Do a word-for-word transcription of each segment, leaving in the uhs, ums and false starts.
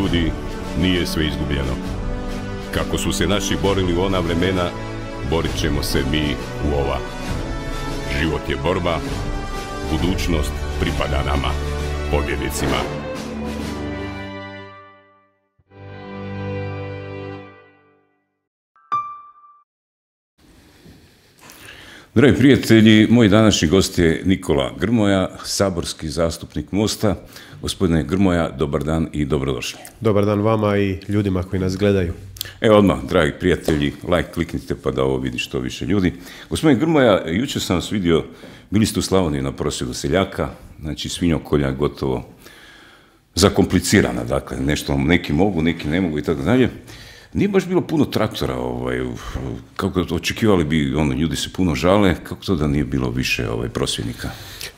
ljudi, nije sve izgubljeno. Kako su se naši borili u ona vremena, borit ćemo se mi u ova. Život je borba, budućnost pripada nama, pobjednicima. Dragi prijatelji, moj današnji gost je Nikola Grmoja, saborski zastupnik Mosta. Gospodine Grmoja, dobar dan i dobrodošli. Dobar dan vama i ljudima koji nas gledaju. Evo odmah, dragi prijatelji, like kliknite pa da ovo vidi što više ljudi. Gospodine Grmoja, jučer sam vas vidio, bili ste u Slavoniji na prosvjedu seljaka, znači svinjokolja gotovo zakomplicirana, dakle, nešto neki mogu, neki ne mogu i tako dalje. Nije baš bilo puno traktora, ovaj, kako očekivali bi, ono, ljudi se puno žale, kako to da nije bilo više ovaj, prosvjednika?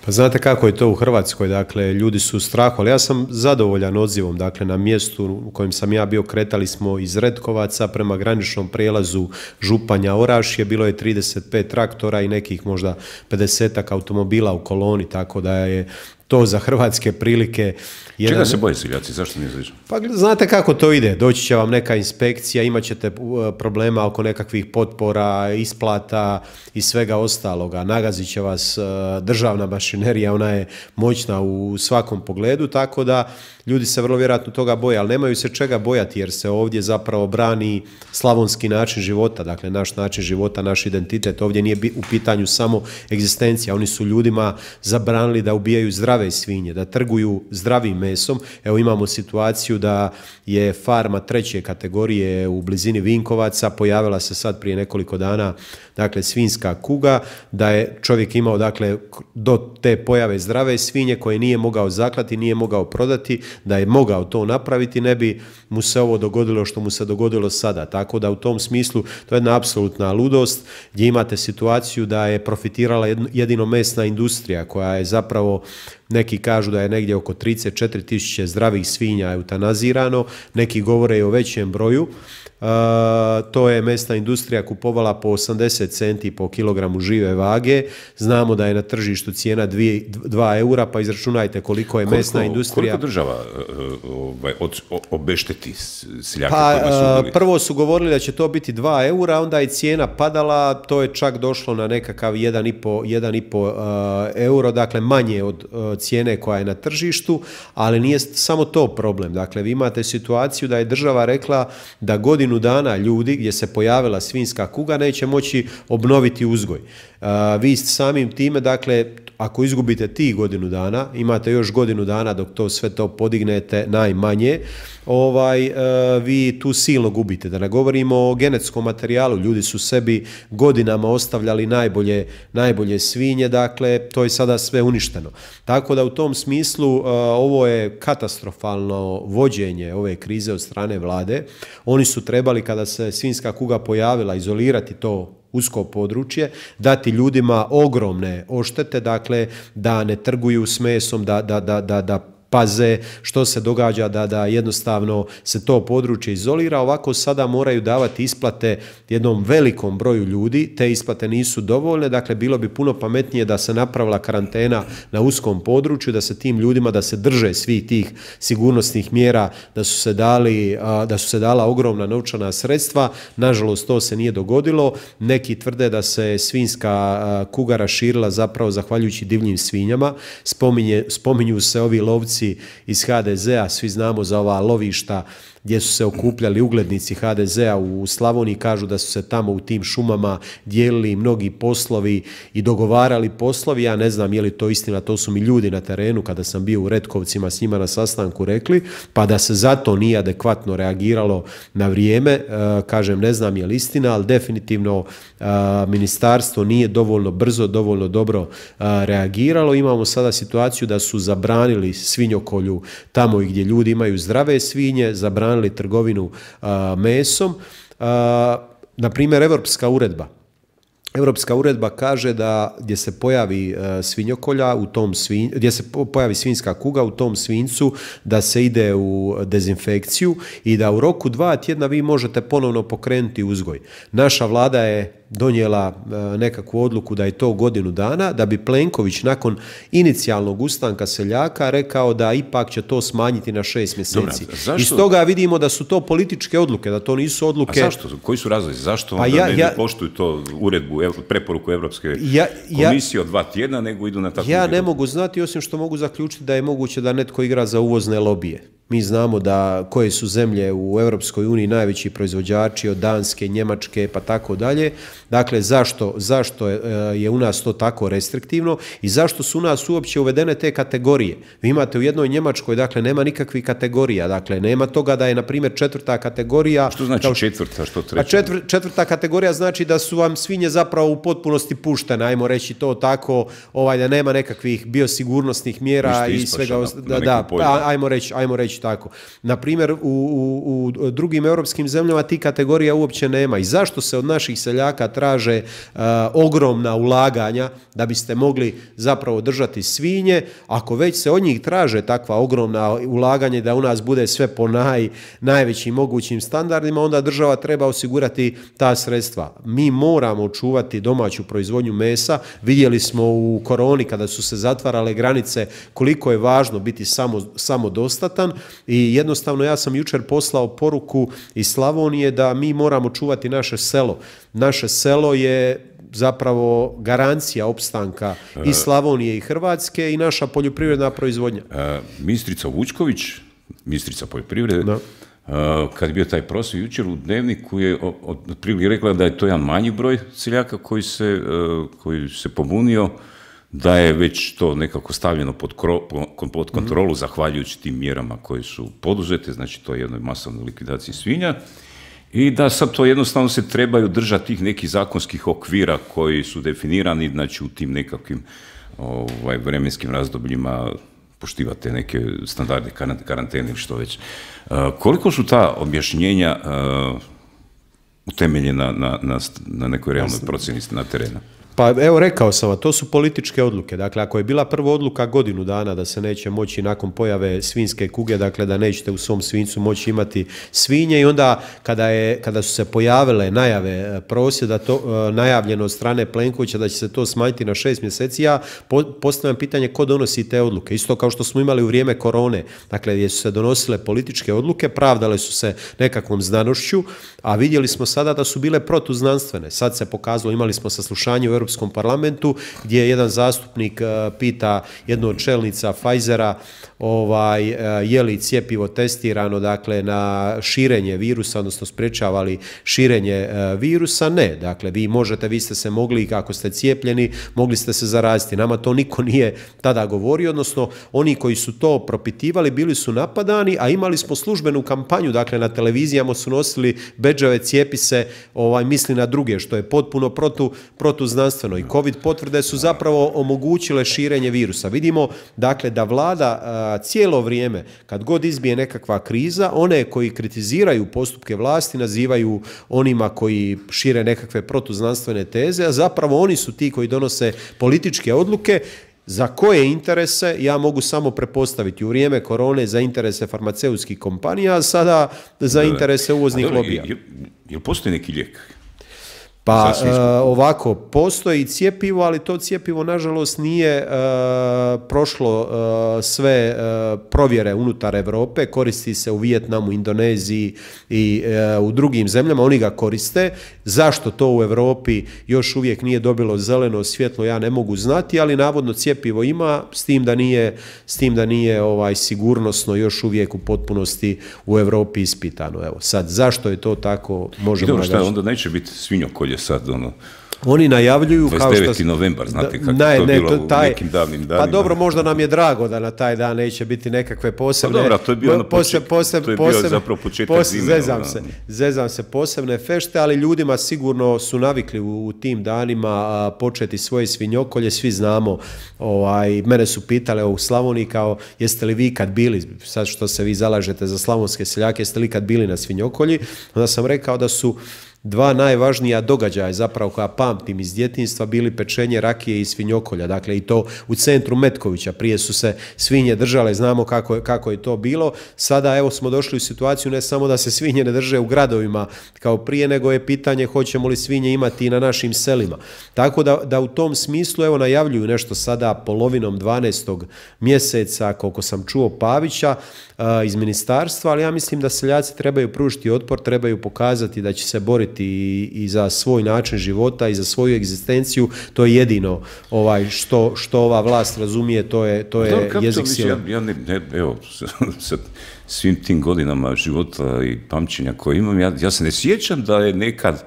Pa znate kako je to u Hrvatskoj, dakle, ljudi su u strahu, ali ja sam zadovoljan odzivom, dakle, na mjestu u kojem sam ja bio, kretali smo iz Retkovaca prema graničnom prijelazu Županja Orašje, bilo je trideset pet traktora i nekih možda pedesetak automobila u koloni, tako da je to za hrvatske prilike... Jedan... Čega se boje seljaci? Zašto nije zađe? Pa znate kako to ide. Doći će vam neka inspekcija, imat ćete problema oko nekakvih potpora, isplata i svega ostaloga. Nagazit će vas državna mašinerija, ona je moćna u svakom pogledu, tako da ljudi se vrlo vjerojatno toga boje, ali nemaju se čega bojati jer se ovdje zapravo brani slavonski način života, dakle naš način života, naš identitet. Ovdje nije u pitanju samo egzistencija. Oni su ljudima zabranili da ubijaju zdrave svinje, da trguju zdravim mesom. Evo imamo situaciju da je farma treće kategorije u blizini Vinkovaca, pojavila se sad prije nekoliko dana, dakle svinjska kuga, da je čovjek imao dakle do te pojave zdrave svinje koje nije mogao zaklati, nije mogao prodati, da je mogao to napraviti, ne bi mu se ovo dogodilo što mu se dogodilo sada. Tako da u tom smislu to je jedna apsolutna ludost gdje imate situaciju da je profitirala jedino mesna industrija koja je zapravo, neki kažu da je negdje oko trideset četiri tisuće zdravih svinja eutanazirano, neki govore i o većem broju. Uh, to je mesna industrija kupovala po osamdeset centi po kilogramu žive vage. Znamo da je na tržištu cijena dva eura, pa izračunajte koliko je koliko, mesna industrija. Koliko država uh, od, obešteti seljake? Pa, uh, prvo su govorili da će to biti dva eura, onda je cijena padala, to je čak došlo na nekakav jedan i pol euro, dakle manje od uh, cijene koja je na tržištu, ali nije samo to problem. Dakle, vi imate situaciju da je država rekla da godinu dana ljudi gdje se pojavila svinjska kuga neće moći obnoviti uzgoj. Uh, vi samim time, dakle, ako izgubite tih godinu dana, imate još godinu dana dok to sve to podignete najmanje, ovaj, uh, vi tu silno gubite. Da ne govorimo o genetskom materijalu, ljudi su sebi godinama ostavljali najbolje, najbolje svinje, dakle, to je sada sve uništeno. Tako da u tom smislu uh, ovo je katastrofalno vođenje ove krize od strane vlade. Oni su trebali, kada se svinjska kuga pojavila, izolirati to usko područje, dati ljudima ogromne odštete, dakle da ne trguju s mesom, da, da, da, da, da paze što se događa, da, da jednostavno se to područje izolira. Ovako sada moraju davati isplate jednom velikom broju ljudi, te isplate nisu dovoljne, dakle bilo bi puno pametnije da se napravila karantena na uskom području, da se tim ljudima, da se drže svih tih sigurnosnih mjera, da su se dali, da su se dala ogromna novčana sredstva. Nažalost to se nije dogodilo. Neki tvrde da se svinjska kuga raširila zapravo zahvaljujući divljim svinjama. Spominje, spominju se ovi lovci iz ha de zea, svi znamo za ova lovišta gdje su se okupljali uglednici ha de zea u Slavoniji, kažu da su se tamo u tim šumama dijelili mnogi poslovi i dogovarali poslovi. Ja ne znam je li to istina, to su mi ljudi na terenu kada sam bio u Retkovcima s njima na sastanku rekli, pa da se zato nije adekvatno reagiralo na vrijeme. E, kažem, ne znam je li istina, ali definitivno e, ministarstvo nije dovoljno brzo, dovoljno dobro e, reagiralo. Imamo sada situaciju da su zabranili svinjokolju tamo gdje ljudi imaju zdrave svinje, zabranili trgovinu a, mesom. A, na primjer, Europska uredba. Europska uredba kaže da gdje se pojavi a, svinjokolja, u tom svin, gdje se pojavi svinjska kuga u tom svinjcu, da se ide u dezinfekciju i da u roku dva tjedna vi možete ponovno pokrenuti uzgoj. Naša vlada je donijela nekakvu odluku da je to godinu dana, da bi Plenković nakon inicijalnog ustanka seljaka rekao da ipak će to smanjiti na šest mjeseci. Dobra, iz toga vidimo da su to političke odluke, da to nisu odluke... A zašto? Koji su razlozi? Zašto onda pa ja, ne, ja, ne poštuju to uredbu, preporuku Europske ja, komisije od dva tjedna, nego idu na tako... Ja ne mogu znati, osim što mogu zaključiti da je moguće da netko igra za uvozne lobije. Mi znamo da koje su zemlje u Europskoj uniji najveći proizvođači od Danske, Njemačke pa tako dalje. Dakle, zašto, zašto je u nas to tako restriktivno i zašto su u nas uopće uvedene te kategorije? Vi imate u jednoj Njemačkoj, dakle, nema nikakvih kategorija. Dakle, nema toga da je, na primjer, četvrta kategorija... Što znači kao... četvrta, što treća? A četvr, četvrta kategorija znači da su vam svinje zapravo u potpunosti puštene, ajmo reći to tako, ovaj, da nema nekakvih biosigurnosnih mjera i svega... Da, da, ajmo reći, ajmo reći tako. Na primjer, u, u, u drugim europskim zemljama ti kategorija uopće nema. I zašto se od naših seljaka traže uh, ogromna ulaganja da biste mogli zapravo držati svinje? Ako već se od njih traže takva ogromna ulaganja da u nas bude sve po naj, najvećim mogućim standardima, onda država treba osigurati ta sredstva. Mi moramo očuvati domaću proizvodnju mesa. Vidjeli smo u koroni kada su se zatvarale granice koliko je važno biti samo, samodostatan. I jednostavno ja sam jučer poslao poruku iz Slavonije da mi moramo čuvati naše selo. Naše selo je zapravo garancija opstanka i Slavonije i Hrvatske i naša poljoprivredna proizvodnja. E, ministrica Vučković, ministrica poljoprivrede, da. Kad je bio taj prosvjed jučer u Dnevniku je otprilike rekla da je to jedan manji broj seljaka koji se, koji se pobunio, da je već to nekako stavljeno pod, kro, pod kontrolu mm-hmm. zahvaljujući tim mjerama koje su poduzete, znači to je jednoj masovnoj likvidaciji svinja i da sad to jednostavno se trebaju držati tih nekih zakonskih okvira koji su definirani, znači u tim nekakvim ovaj, vremenskim razdobljima poštivate neke standarde karantene ili što već. Uh, koliko su ta objašnjenja uh, utemeljena na, na, na nekoj realnoj procjeni na terenu? Pa evo rekao sam vam, to su političke odluke. Dakle, ako je bila prva odluka godinu dana da se neće moći nakon pojave svinjske kuge, dakle da nećete u svom svinjcu moći imati svinje i onda kada, je, kada su se pojavile najave prosvjeda, to, najavljeno od strane Plenkovića da će se to smanjiti na šest mjeseci, ja postavljam pitanje ko donosi te odluke. Isto kao što smo imali u vrijeme korone, dakle gdje su se donosile političke odluke, pravdale su se nekakvom znanošću, a vidjeli smo sada da su bile protuznanstvene. Sad se pokazalo, imali smo saslušanje u Europskom parlamentu gdje jedan zastupnik uh, pita jednu od čelnica Pfizera ovaj, uh, je li cjepivo testirano dakle, na širenje virusa, odnosno sprječava li širenje uh, virusa. Ne, dakle vi možete, vi ste se mogli, ako ste cijepljeni, mogli ste se zaraziti. Nama to niko nije tada govorio, odnosno oni koji su to propitivali bili su napadani, a imali smo službenu kampanju, dakle na televizijama su nosili bedževe cijepi se, ovaj, misli na druge, što je potpuno protu, protuznanstveno. I COVID potvrde su zapravo omogućile širenje virusa. Vidimo dakle da vlada a, cijelo vrijeme, kad god izbije nekakva kriza, one koji kritiziraju postupke vlasti nazivaju onima koji šire nekakve protuznanstvene teze, a zapravo oni su ti koji donose političke odluke za koje interese ja mogu samo prepostaviti. U vrijeme korone za interese farmaceutskih kompanija, a sada za interese uvoznih a, lobija. Je, je postoji neki lijek? Pa uh, ovako, postoji cjepivo, ali to cjepivo nažalost nije uh, prošlo uh, sve uh, provjere unutar Europe, koristi se u Vijetnamu, Indoneziji i uh, u drugim zemljama, oni ga koriste. Zašto to u Europi još uvijek nije dobilo zeleno svjetlo, ja ne mogu znati, ali navodno cjepivo ima, s tim da nije, s tim da nije ovaj, sigurnosno još uvijek u potpunosti u Europi ispitano. Evo, sad, zašto je to tako, možemo nagađati. Šta, onda neće biti svinjokolje sad, ono... Oni najavljuju kao što... dvadeset deveti novembar, znate kako ne, to ne, bilo to, taj, u nekim davnim danima. Pa dobro, možda nam je drago da na taj dan neće biti nekakve posebne... Pa dobro, to je bio, ono poseb, poseb, to je bio poseb, zapravo početak poseb, zime. Zezam se, zezam se posebne fešte, ali ljudima sigurno su navikli u, u tim danima a, početi svoje svinjokolje. Svi znamo, ovaj, mene su pitale u Slavoniji kao jeste li vi kad bili, sad što se vi zalažete za slavonske seljake, jeste li kad bili na svinjokolji? Onda sam rekao da su dva najvažnija događaja zapravo koja pamtim iz djetinjstva bili pečenje rakije i svinjokolja, dakle i to u centru Metkovića. Prije su se svinje držale, znamo kako je, kako je to bilo. Sada evo smo došli u situaciju ne samo da se svinje ne drže u gradovima kao prije, nego je pitanje hoćemo li svinje imati i na našim selima. Tako da, da u tom smislu evo najavljuju nešto sada polovinom dvanaestog mjeseca, koliko sam čuo Pavića iz ministarstva, ali ja mislim da seljaci trebaju pružiti otpor, trebaju pokazati da će se boriti i, i za svoj način života i za svoju egzistenciju. To je jedino ovaj što, što ova vlast razumije, to je, to je da, jezik sile. Ja, ja ne, ne, evo, sa svim tim godinama života i pamćenja koje imam, ja, ja se ne sjećam da je nekad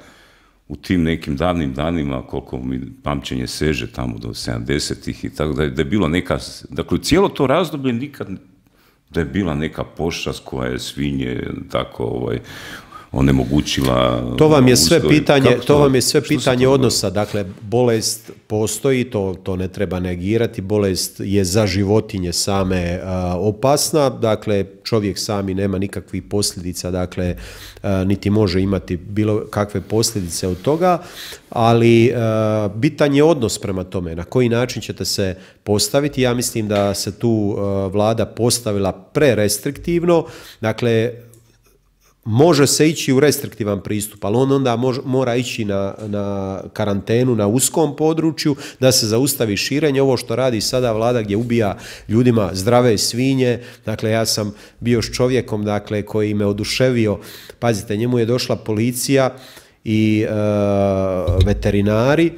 u tim nekim davnim danima, koliko mi pamćenje seže tamo do sedamdesetih i tako da je, da je bilo neka, dakle cijelo to razdoblje nikad da je bila neka pošast koja je svinje tako ovaj onemogućila. To vam je sve pitanje, to, to vam je sve pitanje odnosa, dakle bolest postoji, to, to ne treba negirati, bolest je za životinje same uh, opasna, dakle čovjek sami nema nikakvih posljedica, dakle uh, niti može imati bilo kakve posljedice od toga, ali uh, bitan je odnos prema tome, na koji način ćete se postaviti. Ja mislim da se tu uh, vlada postavila prerestriktivno, dakle može se ići u restriktivan pristup, ali on onda mož, mora ići na, na karantenu na uskom području, da se zaustavi širenje. Ovo što radi sada vlada gdje ubija ljudima zdrave svinje, dakle ja sam bio s čovjekom dakle, koji me oduševio, pazite, njemu je došla policija i e, veterinari,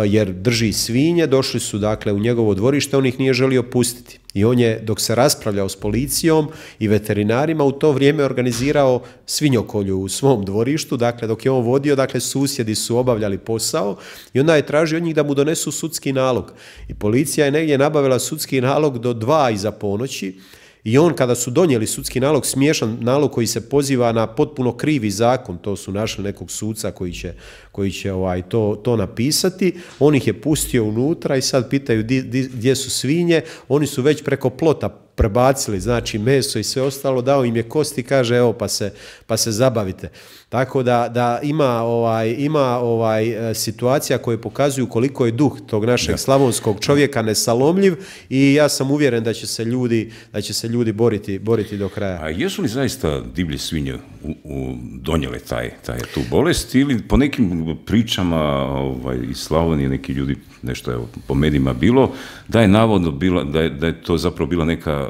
jer drži svinje, došli su dakle u njegovo dvorište, on ih nije želio pustiti. I on je, dok se raspravljao s policijom i veterinarima, u to vrijeme organizirao svinjokolju u svom dvorištu, dakle dok je on vodio, dakle susjedi su obavljali posao i onda je tražio od njih da mu donesu sudski nalog. I policija je negdje nabavila sudski nalog do dva iza ponoći. I on kada su donijeli sudski nalog, smiješan nalog koji se poziva na potpuno krivi zakon, to su našli nekog suca koji će, koji će ovaj, to, to napisati, on ih je pustio unutra i sad pitaju di, di, gdje su svinje, oni su već preko plota prebacili, znači meso i sve ostalo, dao im je kosti, kaže evo pa se, pa se zabavite. Tako da, da ima, ovaj, ima ovaj, situacija koje pokazuju koliko je duh tog našeg ja. slavonskog čovjeka nesalomljiv i ja sam uvjeren da će se ljudi, da će se ljudi boriti, boriti do kraja. A jesu li zaista divlje svinje u, u, donijele taj, taj, tu bolest ili po nekim pričama ovaj, iz Slavonije neki ljudi, nešto je po medijima bilo, da je navodno bila, da je, da je to zapravo bila neka,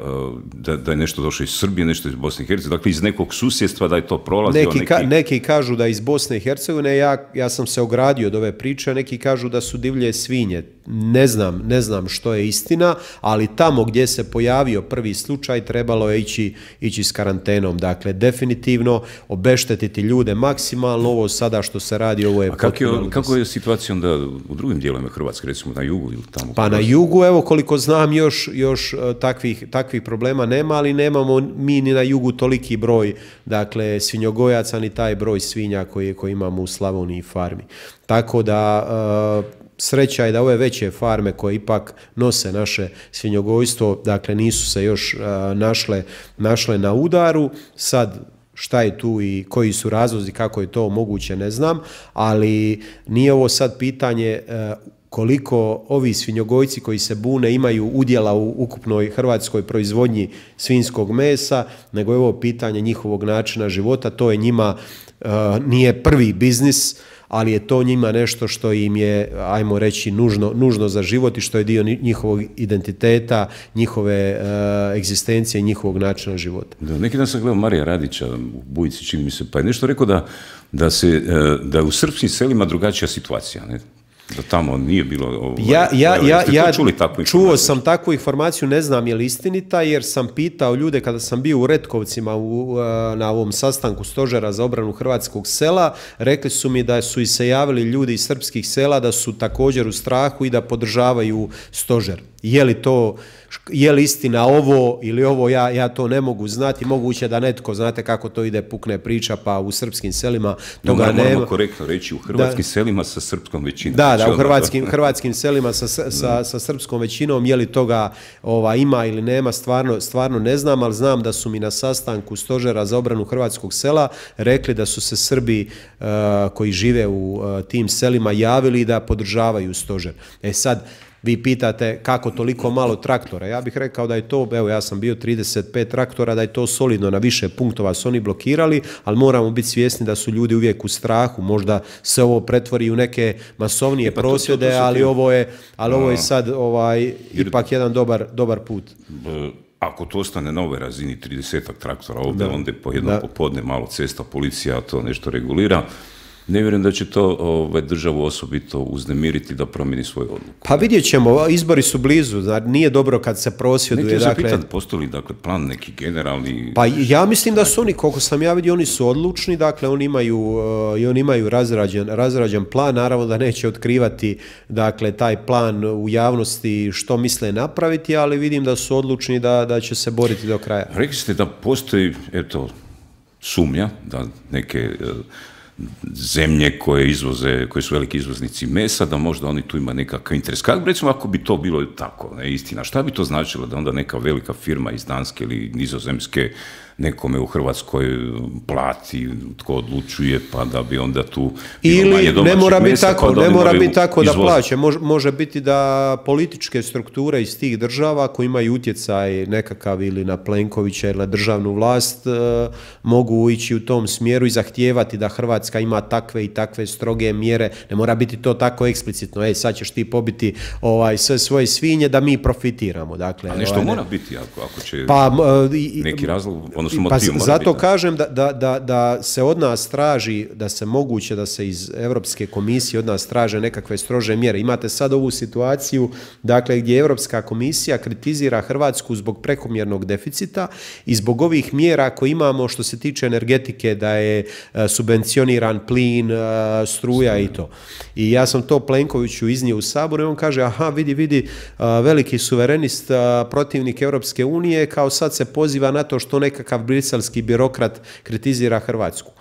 da, da je nešto došlo iz Srbije, nešto iz Bosne i Hercegovine, dakle iz nekog susjedstva da je to prolazilo. Neki, neki... Ka, neki kažu da iz Bosne i Hercegovine, ja, ja sam se ogradio od ove priče, neki kažu da su divlje svinje. Ne znam, ne znam što je istina, ali tamo gdje se pojavio prvi slučaj trebalo je ići, ići s karantenom. Dakle, definitivno obeštetiti ljude maksimalno, ovo sada što se radi, ovo je... A kako je, kako je situacija onda u drugim dijelovima Hrvatske, recimo na jugu ili tamo? Pa na jugu, evo koliko znam, još, još takvih, takvih problema nema, ali nemamo mi ni na jugu toliki broj, dakle, svinjogojaca, ni taj broj svinja koji, koji imamo u Slavoniji farmi. Tako da... Uh, sreća je da ove veće farme koje ipak nose naše svinjogojstvo, dakle nisu se još uh, našle, našle na udaru. Sad šta je tu i koji su razlozi, kako je to moguće, ne znam, ali nije ovo sad pitanje uh, koliko ovi svinjogojci koji se bune imaju udjela u ukupnoj hrvatskoj proizvodnji svinjskog mesa, nego je ovo pitanje njihovog načina života. To je njima, uh, nije prvi biznis, ali je to njima nešto što im je, ajmo reći, nužno, nužno za život i što je dio njihovog identiteta, njihove uh, egzistencije i njihovog načina života. Da, neki dan sam gledao Marija Radića u Bujici, čini mi se, pa je nešto rekao da, da, se, da u srpskim selima drugačija situacija, ne? Da tamo nije bilo... Ovaj, ja ja, ja, ja čuli takvu čuo sam takvu informaciju, ne znam je li istinita, jer sam pitao ljude kada sam bio u Retkovcima u, na ovom sastanku stožera za obranu hrvatskog sela, rekli su mi da su i se javili ljudi iz srpskih sela, da su također u strahu i da podržavaju stožer. Je li to je li istina ovo ili ovo, ja, ja to ne mogu znati, moguće da netko, znate kako to ide, pukne priča, pa u srpskim selima toga no, nema. Moramo korektno reći, u hrvatskim da, selima sa srpskom većinom. Da, da, u hrvatskim, hrvatskim selima sa, sa, sa srpskom većinom, je li toga ova, ima ili nema, stvarno, stvarno ne znam, ali znam da su mi na sastanku Stožera za obranu hrvatskog sela rekli da su se Srbi uh, koji žive u uh, tim selima javili da podržavaju stožer. E sad, vi pitate kako toliko malo traktora. Ja bih rekao da je to, evo ja sam bio trideset pet traktora, da je to solidno, na više punktova su oni blokirali, ali moramo biti svjesni da su ljudi uvijek u strahu. Možda se ovo pretvori u neke masovnije pa prosvjede, to, to, to ali, ovo je, ali ovo je sad ovaj, ipak jedan dobar, dobar put. Ako to ostane na ovoj razini tridesetak traktora ovdje, onda po jednom popodne malo cesta, policija to nešto regulira, ne vjerujem da će to ovaj, državu osobito uznemiriti da promijeni svoju odluku. Pa vidjet ćemo, izbori su blizu, znači nije dobro kad se prosvjeduje. Neki dakle, se pitan, postoji li dakle, plan neki generalni... Pa ja mislim da su oni, koliko sam ja vidio, oni su odlučni, dakle oni imaju, uh, i oni imaju razrađen, razrađen plan, naravno da neće otkrivati dakle, taj plan u javnosti što misle napraviti, ali vidim da su odlučni da, da će se boriti do kraja. Rekli ste da postoji, eto, sumnja da neke... Uh, zemlje koje izvoze, koje su veliki izvoznici mesa, da možda oni tu ima nekakav interes. Kako recimo ako bi to bilo tako, ne, istina, šta bi to značilo da onda neka velika firma iz Danske ili Nizozemske nekome u Hrvatskoj plati, tko odlučuje, pa da bi onda tu ili manje domaćih ne mora biti tako, pa ne mora biti tako da plaće, može, može biti da političke strukture iz tih država koji imaju utjecaj nekakav ili na Plenkovića ili na državnu vlast eh, mogu ići u tom smjeru i zahtijevati da Hrvatska ima takve i takve stroge mjere. Ne mora biti to tako eksplicitno, ej sad ćeš ti pobiti ovaj, sve svoje svinje da mi profitiramo. Dakle, a nešto ovaj, mora biti ako, ako će pa, neki razlog, Pa zato kažem da, da, da, da se od nas traži, da se moguće da se iz Europske komisije od nas traže nekakve strože mjere. Imate sad ovu situaciju dakle, gdje Europska komisija kritizira Hrvatsku zbog prekomjernog deficita i zbog ovih mjera koje imamo što se tiče energetike, da je subvencioniran plin, struja i to. I ja sam to Plenkoviću iznio u Saboru i on kaže, aha, vidi, vidi, veliki suverenist, protivnik Europske unije, kao sad se poziva na to što nekakav briselski birokrat kritizira Hrvatsku.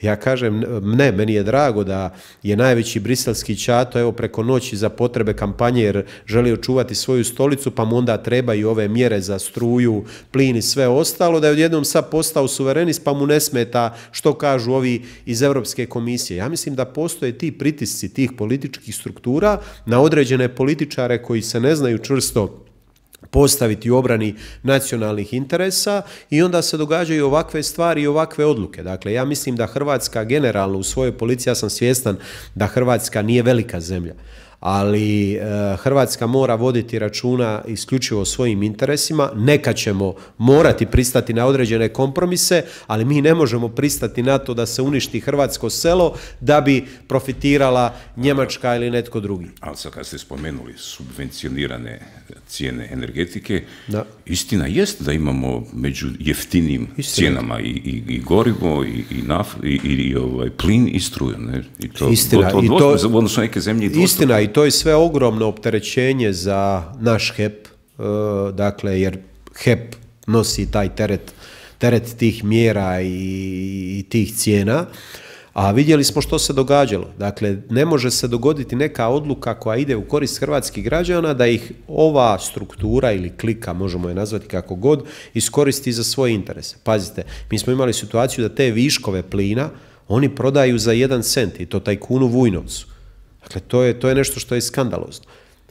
Ja kažem, ne, meni je drago da je najveći briselski ćato evo preko noći za potrebe kampanje jer želi očuvati svoju stolicu, pa mu onda trebaju ove mjere za struju, plin i sve ostalo, da je odjednom sad postao suverenist pa mu ne smeta što kažu ovi iz Europske komisije. Ja mislim da postoje ti pritisci tih političkih struktura na određene političare koji se ne znaju čvrsto postaviti u obrani nacionalnih interesa i onda se događaju ovakve stvari i ovakve odluke. Dakle, ja mislim da Hrvatska generalno u svojoj policiji, ja sam svjestan da Hrvatska nije velika zemlja, ali e, Hrvatska mora voditi računa isključivo o svojim interesima. Neka ćemo morati pristati na određene kompromise, ali mi ne možemo pristati na to da se uništi hrvatsko selo da bi profitirala Njemačka ili netko drugi. Ali sad kad ste spomenuli subvencionirane cijene energetike, da. Istina jest da imamo među jeftinim istina. Cijenama i, i, i gorivo i, i, naf, i, i, i ovaj, plin i struju. Ne? I to, istina. To, to, to, I to, odnosno neke zemlje i istina, i to je sve ogromno opterećenje za naš H E P, uh, dakle, jer H E P nosi taj teret, teret tih mjera i, i tih cijena. A vidjeli smo što se događalo. Dakle, ne može se dogoditi neka odluka koja ide u korist hrvatskih građana da ih ova struktura ili klika, možemo je nazvati kako god, iskoristi za svoje interese. Pazite, mi smo imali situaciju da te viškove plina oni prodaju za jedan cent i to tajkunu Vujnovcu. Dakle, to je, to je nešto što je skandalozno.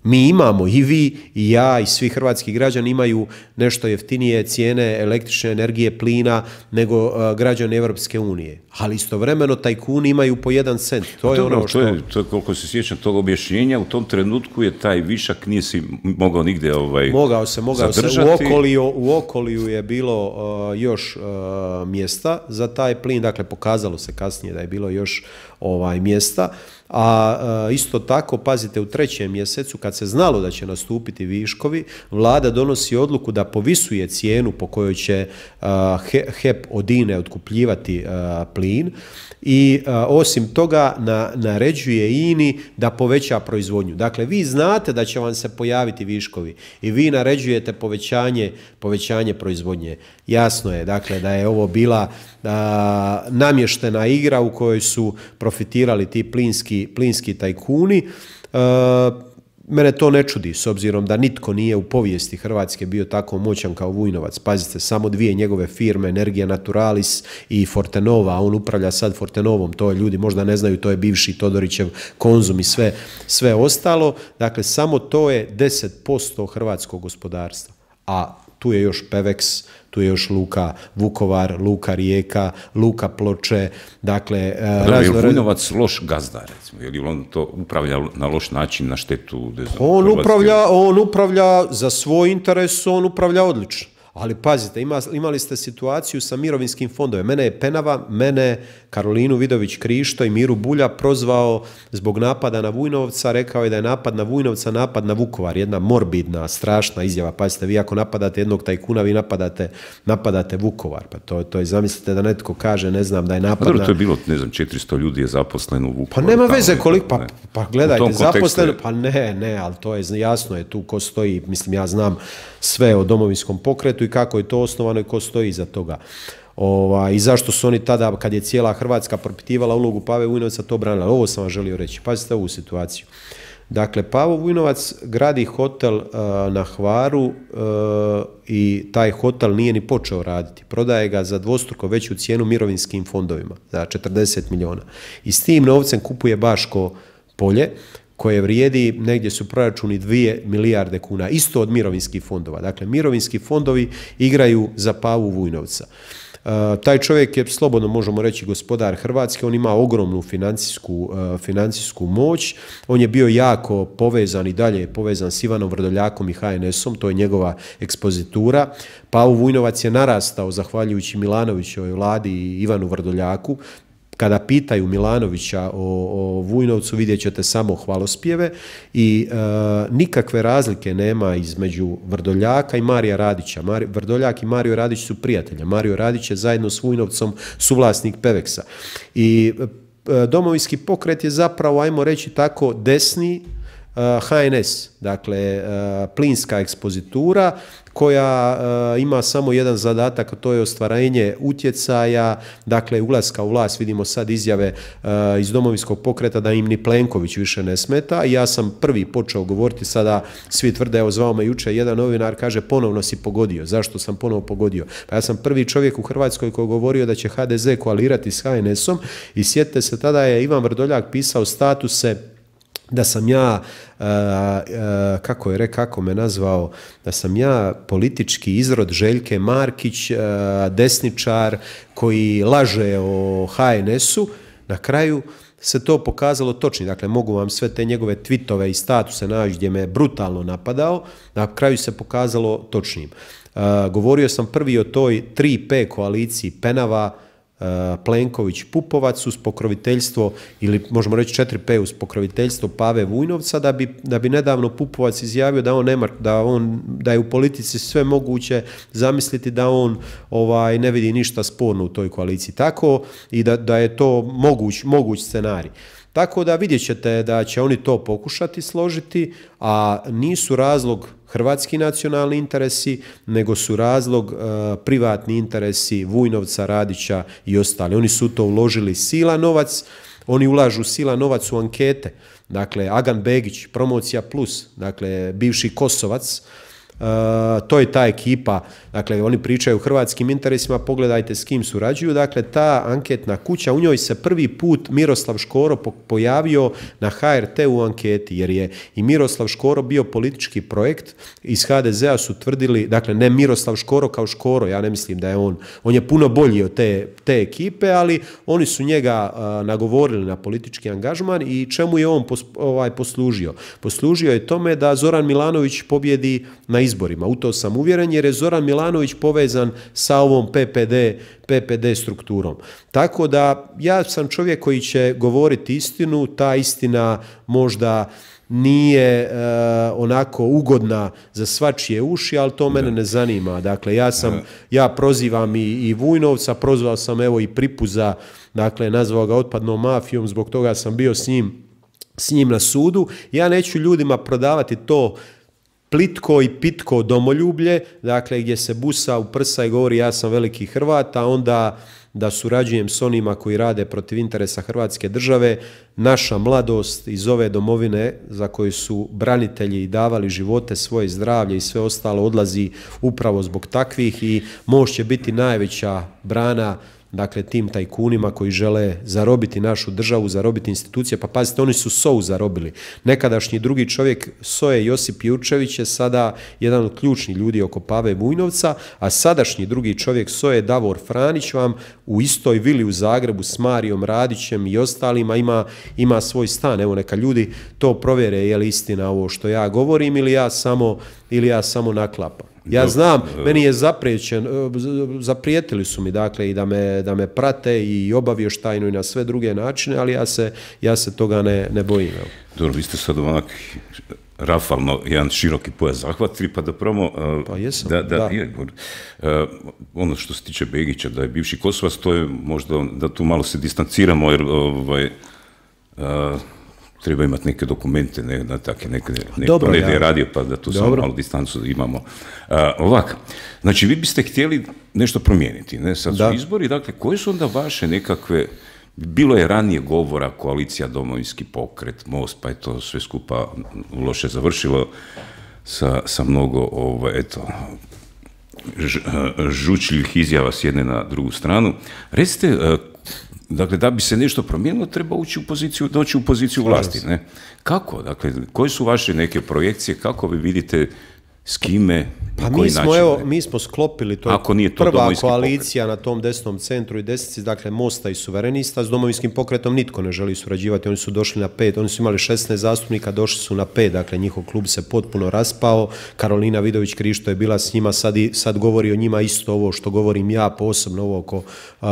Mi imamo, i vi, i ja, i svi hrvatski građani imaju nešto jeftinije cijene električne energije, plina, nego uh, građani Europske unije. Ali istovremeno tajkuni imaju po jedan cent. To je dobro, ono što... To je, to je, koliko se sjećam tog objašnjenja, u tom trenutku je taj višak nije si mogao nigde ovaj, mogao se, mogao zadržati. Se. U okoliju, u okoliju je bilo uh, još uh, mjesta za taj plin. Dakle, pokazalo se kasnije da je bilo još ovaj, mjesta. A isto tako, pazite, u trećem mjesecu kad se znalo da će nastupiti viškovi, vlada donosi odluku da povisuje cijenu po kojoj će H E P od I N E otkupljivati plin i osim toga na, naređuje I N I da poveća proizvodnju. Dakle, vi znate da će vam se pojaviti viškovi i vi naređujete povećanje, povećanje proizvodnje. Jasno je, dakle, da je ovo bila a, namještena igra u kojoj su profitirali ti plinski, plinski tajkuni. A, Mene to ne čudi, s obzirom da nitko nije u povijesti Hrvatske bio tako moćan kao Vujnovac. Pazite, samo dvije njegove firme, Energia Naturalis i Fortenova, on upravlja sad Fortenovom, to ljudi možda ne znaju, to je bivši Todorićev Konzum i sve, sve ostalo. Dakle, samo to je deset posto hrvatskog gospodarstva, a tu je još Pevex, tu je još Luka Vukovar, Luka Rijeka, Luka Ploče, dakle... Da, je li Vujnovac loš gazda, recimo? Je li on to upravlja na loš način, na štetu? Ne znam, on, upravlja, on upravlja za svoj interes, on upravlja odlično. Ali pazite, ima, imali ste situaciju sa mirovinskim fondovima. Mene je Penava, mene, Karolinu Vidović Krišto i Miru Bulja prozvao zbog napada na Vujnovca. Rekao je da je napad na Vujnovca napad na Vukovar. Jedna morbidna, strašna izjava. Pazite, vi ako napadate jednog tajkuna, vi napadate, napadate Vukovar. Pa to, to je, zamislite da netko kaže, ne znam, da je napad dobro, na... to je bilo, ne znam, četiristo ljudi je zaposleno u Vukovaru. Pa nema veze koliko, pa, pa gledajte, zaposleno, je... pa ne, ne, ali to je jasno je tu ko stoji. Mislim, ja znam sve o Domovinskom pokretu i kako je to osnovano i ko stoji iza toga. Ova, I zašto su oni tada, kad je cijela Hrvatska propitivala ulogu Pave Vujnovca, to branila. Ovo sam vam želio reći. Pazite ovu situaciju. Dakle, Pavo Vujnovac gradi hotel uh, na Hvaru uh, i taj hotel nije ni počeo raditi. Prodaje ga za dvostruko veću cijenu mirovinskim fondovima, za četrdeset milijuna. I s tim novcem kupuje Baško polje, koje vrijedi, negdje su proračuni dvije milijarde kuna, isto od mirovinskih fondova. Dakle, mirovinski fondovi igraju za Pavu Vujnovca. Uh, taj čovjek je, slobodno možemo reći, gospodar Hrvatske, on ima ogromnu financijsku, uh, financijsku moć, on je bio jako povezan i dalje je povezan s Ivanom Vrdoljakom i H N S-om, to je njegova ekspozitura. Pavo Vujnovac je narastao zahvaljujući Milanovićevoj vladi i Ivanu Vrdoljaku. Kada pitaju Milanovića o, o Vujnovcu, vidjet ćete samo hvalospjeve i e, nikakve razlike nema između Vrdoljaka i Marija Radića. Mari, Vrdoljak i Mario Radić su prijatelji. Mario Radić je zajedno s Vujnovcom suvlasnik Pevexa. I e, Domovinski pokret je zapravo, ajmo reći tako, desni H N S, dakle plinska ekspozitura koja ima samo jedan zadatak, to je ostvarenje utjecaja, dakle ulaska u vlast. Vidimo sad izjave iz Domovinskog pokreta da im ni Plenković više ne smeta i ja sam prvi počeo govoriti, sada svi tvrde, evo zvao me jučer jedan novinar, kaže ponovno si pogodio. Zašto sam ponovo pogodio? Pa ja sam prvi čovjek u Hrvatskoj koji je govorio da će H D Z koalirati s H N S-om i sjetite se, tada je Ivan Vrdoljak pisao statuse da sam ja, uh, uh, kako je rekao, kako me nazvao, da sam ja politički izrod Željke Markić, uh, desničar koji laže o H N S-u. Na kraju se to pokazalo točnim. Dakle, mogu vam sve te njegove tweetove i statuse naći gdje me brutalno napadao. Na kraju se pokazalo točnim. Uh, govorio sam prvi o toj tri P koaliciji Penava, Plenković, Pupovac uz pokroviteljstvo, ili možemo reći četiri P uz pokroviteljstvo Pave Vujnovca, da bi, da bi nedavno Pupovac izjavio da on nema, da on, da je u politici sve moguće zamisliti da on ovaj ne vidi ništa sporno u toj koaliciji. Tako i da, da je to moguć, moguć scenarij. Tako da vidjet ćete da će oni to pokušati složiti, a nisu razlog hrvatski nacionalni interesi, nego su razlog uh, privatni interesi Vujnovca, Radića i ostali. Oni su to uložili sila novac, oni ulažu sila novac u ankete. Dakle, Agan Begić, Promocija Plus, dakle, bivši Kosovac, Uh, to je ta ekipa, dakle oni pričaju o hrvatskim interesima, pogledajte s kim surađuju, dakle ta anketna kuća, u njoj se prvi put Miroslav Škoro pojavio na H R T u anketi, jer je i Miroslav Škoro bio politički projekt, iz H D Z-a su tvrdili, dakle ne Miroslav Škoro kao Škoro, ja ne mislim da je on, on je puno bolji od te, te ekipe, ali oni su njega uh, nagovorili na politički angažman i čemu je on pos, ovaj, poslužio? Poslužio je tome da Zoran Milanović pobjedi na izborima. U to sam uvjeren jer je Zoran Milanović povezan sa ovom P P D, P P D strukturom. Tako da ja sam čovjek koji će govoriti istinu, ta istina možda nije e, onako ugodna za svačije uši, ali to mene ne zanima. Dakle, ja sam, ja prozivam i, i Vujnovca, prozvao sam evo i Pripuza, dakle, nazvao ga otpadnom mafijom, zbog toga sam bio s njim, s njim na sudu. Ja neću ljudima prodavati to plitko i pitko domoljublje, dakle, gdje se busa u prsa i govori ja sam veliki Hrvat, a onda da surađujem s onima koji rade protiv interesa Hrvatske države. Naša mladost iz ove domovine za koju su branitelji davali živote, svoje zdravlje i sve ostalo odlazi upravo zbog takvih i MOST će biti najveća brana, dakle, tim tajkunima koji žele zarobiti našu državu, zarobiti institucije. Pa pazite, oni su S O U zarobili. Nekadašnji drugi čovjek S O E Josip Jurčević je sada jedan od ključnih ljudi oko Pave Vujnovca, a sadašnji drugi čovjek S O E Davor Franić vam u istoj vili u Zagrebu s Marijom Radićem i ostalima ima, ima svoj stan. Evo, neka ljudi to provjere je li istina ovo što ja govorim ili ja samo, ili ja samo naklapam. Ja znam, meni je zapriječen, zaprijetili su mi, dakle, i da me, da me prate i obavještajno i na sve druge načine, ali ja se, ja se toga ne, ne bojim. Evo. Dobro, vi ste sad onak rafalno jedan široki pojas zahvatili, pa da promo... Pa jesam, da. da, da. Je, ono što se tiče Begića, da je bivši Kosovac, to je možda da tu malo se distanciramo, jer ovaj... A, treba imati neke dokumente, ne, da take neke, neko ne je radio, pa da tu samo malo distancu imamo. Uh, ovako, znači vi biste htjeli nešto promijeniti, ne? Sad su da. izbori, dakle, koje su onda vaše nekakve, bilo je ranije govora, koalicija Domovinski pokret, MOST, pa je to sve skupa loše završilo sa, sa mnogo, ovaj, eto, ž, žučljivih izjava s jedne na drugu stranu. Recite, uh, dakle, da bi se nešto promijenilo, treba ući u poziciju, doći u poziciju vlasti, ne? Kako? Dakle, koje su vaše neke projekcije, kako vi vidite s kime, pa na koji mi smo, način? Evo, mi smo sklopili, to Ako nije to prva Domovinski koalicija pokret. na tom desnom centru i desnici, dakle, MOST-a i Suverenista, s Domovinskim pokretom nitko ne želi surađivati, oni su došli na pet, oni su imali šesnaest zastupnika, došli su na pet, dakle, njihov klub se potpuno raspao, Karolina Vidović Krišto je bila s njima, sad, i, sad govori o njima isto ovo što govorim ja, posebno ovo oko uh,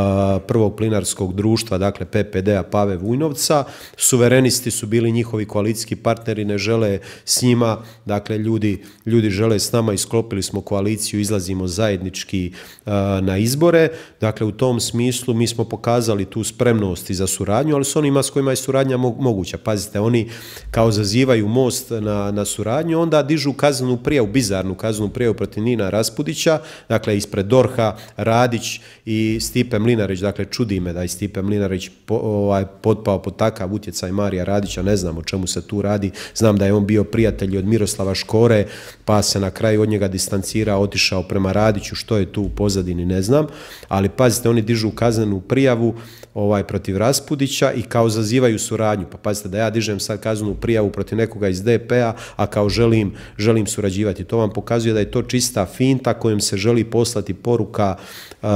prvog plinarskog društva, dakle, P P D-a Pave Vujnovca, Suverenisti su bili njihovi koalicijski partneri, ne žele s njima, dakle, ljudi, ljudi žele s nama i sklopili smo koaliciju, izlazimo zajednički uh, na izbore. Dakle, u tom smislu mi smo pokazali tu spremnost i za suradnju, ali s onima s kojima je suradnja mo moguća. Pazite, oni kao zazivaju MOST na, na suradnju, onda dižu kaznenu prijavu, bizarnu kaznenu prijavu protiv Nina Raspudića, dakle, ispred D O R H-a Radić i Stipe Mlinarić. Dakle, čudi me da je Stipe Mlinarić po, ovaj, potpao pod takav utjecaj Marija Radića, ne znam o čemu se tu radi. Znam da je on bio prijatelj od Miroslava Škore, pa se na kraju od njega distancirao, otišao prema Radiću, što je tu u pozadini ne znam, ali pazite, oni dižu kaznenu prijavu ovaj, protiv Raspudića i kao zazivaju suradnju. Pa pazite, da ja dižem sad kaznenu prijavu protiv nekoga iz D P-a, a kao želim, želim surađivati. To vam pokazuje da je to čista finta kojom se želi poslati poruka uh,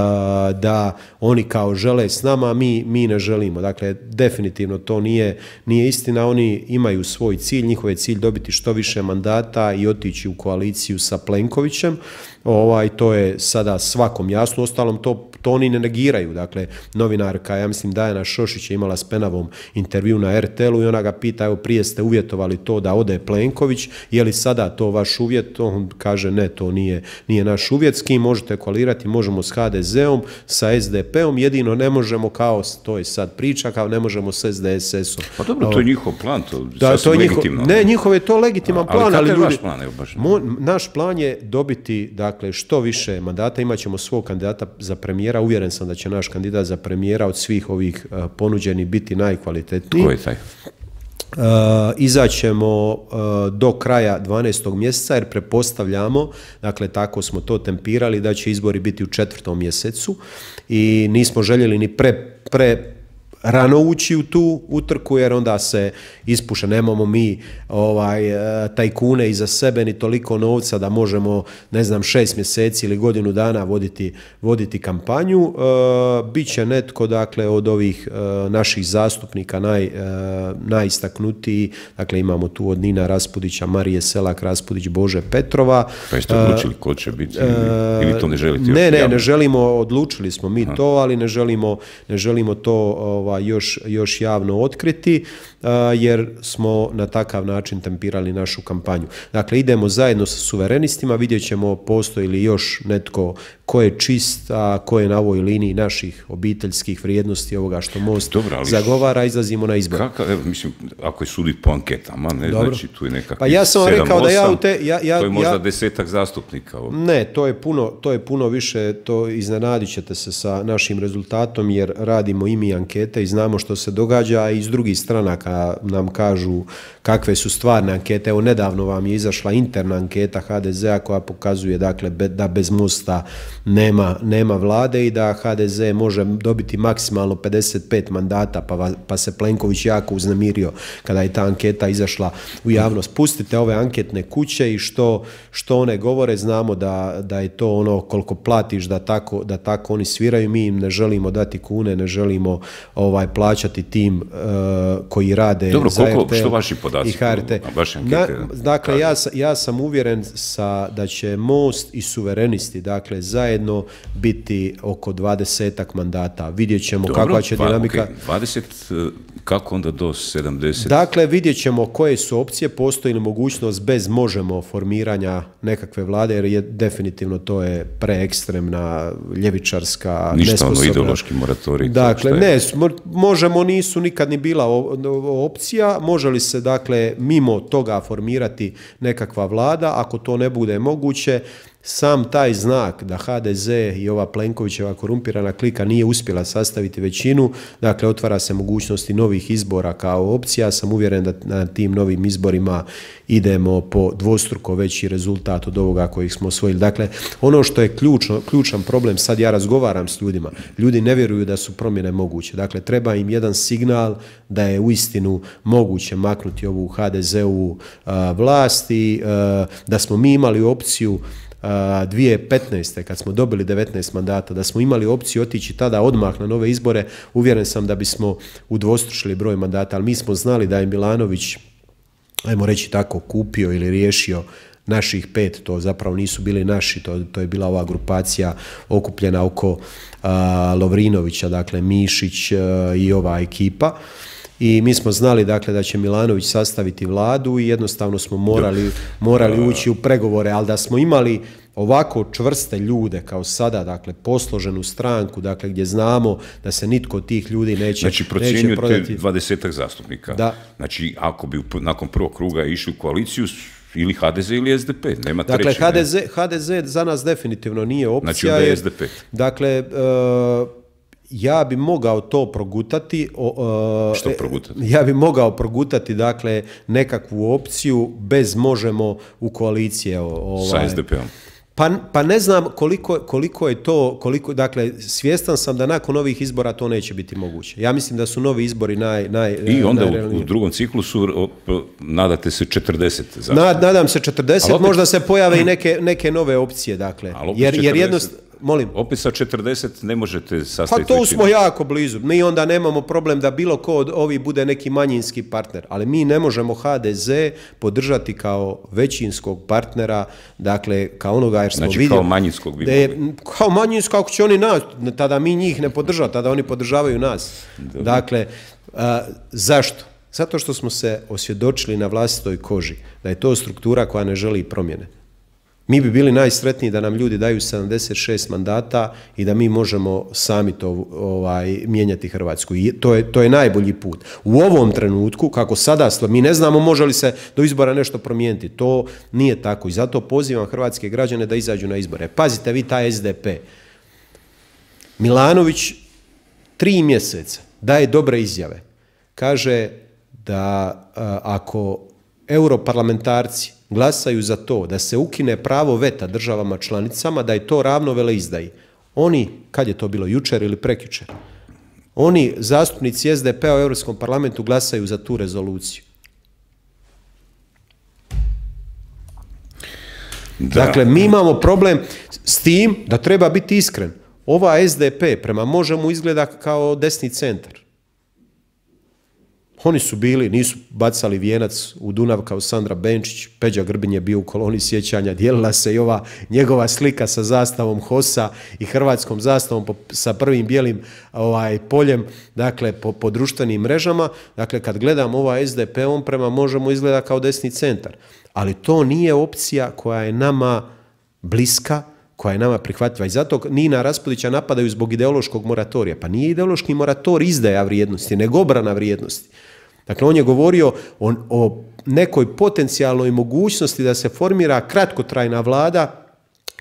da oni kao žele s nama, mi, mi ne želimo. Dakle, definitivno to nije, nije istina, oni imaju svoj cilj, njihov je cilj dobiti što više mandata i otići u koaliciju sa Plenkovićem. Ovaj, to je sada svakom jasno, ostalom to, to oni ne negiraju. Dakle, novinarka, ja mislim Dajana Šošić je imala s Penavom intervju na R T L-u i ona ga pita, evo prije ste uvjetovali to da ode Plenković, je li sada to vaš uvjet? On kaže ne, to nije, nije naš uvjet, s kim možete koalirati, možemo s H D Z-om, sa S D P-om, jedino ne možemo kao, to je sad priča, kao ne možemo s S D S S-om. Pa dobro, to je njihov plan, to da, sasvim to je legitimno. Ne, njihov je to legitiman A, plan, ali ljudi, vaš plan? Evo, baš mo, naš plan je dobiti, dakle, što više mandata, imat ćemo svog kandidata za premijera, uvjeren sam da će naš kandidat za premijera od svih ovih uh, ponuđenih biti najkvalitetniji. Ko je taj? Uh, izaćemo uh, do kraja dvanaestog mjeseca jer prepostavljamo, dakle tako smo to tempirali, da će izbori biti u četvrtom mjesecu i nismo željeli ni pre, pre rano ući u tu utrku, jer onda se ispuše, nemamo mi ovaj, tajkune iza sebe ni toliko novca da možemo, ne znam, šest mjeseci ili godinu dana voditi, voditi kampanju. E, Biće netko, dakle, od ovih e, naših zastupnika naj, e, najistaknutiji, dakle imamo tu od Nina Raspudića, Marije Selak Raspudić, Bože Petrova. Pa jeste odlučili ko će biti ili, ili to ne želite? Ne, ne, ne želimo, odlučili smo mi Aha. to, ali ne želimo, ne želimo to ovaj, još, još javno otkriti, uh, jer smo na takav način tempirali našu kampanju. Dakle, idemo zajedno sa suverenistima, vidjet ćemo postoji li još netko ko je čist, a ko je na ovoj liniji naših obiteljskih vrijednosti, ovoga što Most Dobro, ali zagovara, izlazimo na izbor. Kakav, evo, mislim, ako je sudi po anketama, ne, Dobro. znači tu je nekakvih pa ja sam sedam, rekao da ja osam, u te, ja, ja, to je možda ja, desetak zastupnika. Ovo. Ne, to je puno, to je puno više, to iznenadit ćete se sa našim rezultatom, jer radimo i mi ankete i znamo što se događa, i iz drugih stranaka nam kažu kakve su stvarne ankete. Evo, nedavno vam je izašla interna anketa ha de zea koja pokazuje, dakle, da bez Mosta nema, nema vlade i da ha de ze može dobiti maksimalno pedeset pet mandata, pa, pa se Plenković jako uznemirio kada je ta anketa izašla u javnost. Pustite ove anketne kuće i što, što one govore, znamo da, da je to ono koliko platiš da tako, da tako oni sviraju. Mi im ne želimo dati kune, ne želimo ovaj, plaćati tim uh, koji rade Dobro, za koliko, er te el što vaši podaci, i ha er te. Vaše ankete, Na, dakle, ja, ja sam uvjeren sa, da će Most i suverenisti, dakle, zajedno biti oko dvadesetak mandata. Vidjet ćemo Dobro, kakva će pa, dinamika. Okay. dvadeset, kako onda do sedamdeset? Dakle, vidjet ćemo koje su opcije, postoji li mogućnost bez Možemo formiranja nekakve vlade, jer je definitivno to je preekstremna, ljevičarska, ništa nesposobna. ono ideološki moratorij. Dakle, ne, Možemo nisu nikad ni bila opcija. Može li se, dakle, mimo toga formirati nekakva vlada? Ako to ne bude moguće, sam taj znak da ha de ze i ova Plenkovićeva korumpirana klika nije uspjela sastaviti većinu, dakle, otvara se mogućnosti novih izbora kao opcija. Ja sam uvjeren da na tim novim izborima idemo po dvostruko veći rezultat od ovoga kojih smo osvojili. Dakle, ono što je ključno, ključan problem, sad ja razgovaram s ljudima, ljudi ne vjeruju da su promjene moguće. Dakle, treba im jedan signal da je uistinu moguće maknuti ovu ha de ze-ovu uh, vlast i uh, da smo mi imali opciju dvije tisuće petnaeste. kad smo dobili devetnaest mandata, da smo imali opciju otići tada odmah na nove izbore, uvjeren sam da bismo udvostručili broj mandata, ali mi smo znali da je Milanović, ajmo reći tako, kupio ili riješio naših pet, to zapravo nisu bili naši, to, to je bila ova grupacija okupljena oko uh, Lovrinovića, dakle Mišić uh, i ova ekipa. I mi smo znali, dakle, da će Milanović sastaviti vladu i jednostavno smo morali, morali ući u pregovore, ali da smo imali ovako čvrste ljude kao sada, dakle, posloženu stranku, dakle, gdje znamo da se nitko od tih ljudi neće, znači, neće prodati. Znači, dvadesetak zastupnika. Da. Znači, ako bi nakon prvog kruga išli u koaliciju, ili ha de ze ili es de pe, nema dakle, treći. Dakle, ha de ze, ha de ze za nas definitivno nije opcija. Znači, onda je es de pe. Dakle, uh, ja bi mogao to progutati. Uh, Što progutati? Ja bi mogao progutati, dakle, nekakvu opciju bez Možemo u koalicije. Ovaj. Sa es de peom. Pa, pa ne znam koliko, koliko je to, koliko, dakle, svjestan sam da nakon ovih izbora to neće biti moguće. Ja mislim da su novi izbori naj... naj I onda u, u drugom ciklusu nadate se četrdeset. Nad, nadam se četrdeset, opet, možda se pojave i neke, neke nove opcije, dakle. Jer, jer jednostavno... Molim. Opet sa četrdeset ne možete sastaviti. Pa to smo jako blizu. Mi onda nemamo problem da bilo ko od ovih bude neki manjinski partner, ali mi ne možemo ha de ze podržati kao većinskog partnera, dakle, kao onoga jer smo znači, vidjeli. Kao manjinskog bi je, mogli. Kao manjinskog, ako će oni nas, tada mi njih ne podržavamo, tada oni podržavaju nas. Dobre. Dakle, a, zašto? Zato što smo se osvjedočili na vlastitoj koži da je to struktura koja ne želi promjene. Mi bi bili najsretniji da nam ljudi daju sedamdeset šest mandata i da mi možemo sami to ovaj, mijenjati Hrvatsku. I to je, to je najbolji put. U ovom trenutku, kako sada, mi ne znamo može li se do izbora nešto promijeniti. To nije tako i zato pozivam hrvatske građane da izađu na izbore. Pazite vi taj es de pe. Milanović tri mjeseca daje dobre izjave. Kaže da a, ako europarlamentarci glasaju za to da se ukine pravo veta državama članicama, da je to ravno veleizdaji. Oni, kad je to bilo, jučer ili prekjučer, Oni, zastupnici S D P-a u Europskom parlamentu, glasaju za tu rezoluciju. Da. Dakle, mi imamo problem s tim da treba biti iskren. Ova S D P prema Možemo izgleda kao desni centar. Oni su bili, nisu bacali vijenac u Dunav kao Sandra Benčić, Peđa Grbin je bio u koloni sjećanja, dijelila se i ova njegova slika sa zastavom HOS-a i hrvatskom zastavom po, sa prvim bijelim ovaj, poljem, dakle, po, po društvenim mrežama. Dakle, kad gledam ova S D P, on prema Možemo izgleda kao desni centar. Ali to nije opcija koja je nama bliska, koja je nama prihvatljiva. I zato Nina Raspudića napadaju zbog ideološkog moratorija. Pa nije ideološki morator izdaja vrijednosti, nego obrana vrijednosti. Dakle, on je govorio o, o nekoj potencijalnoj mogućnosti da se formira kratkotrajna vlada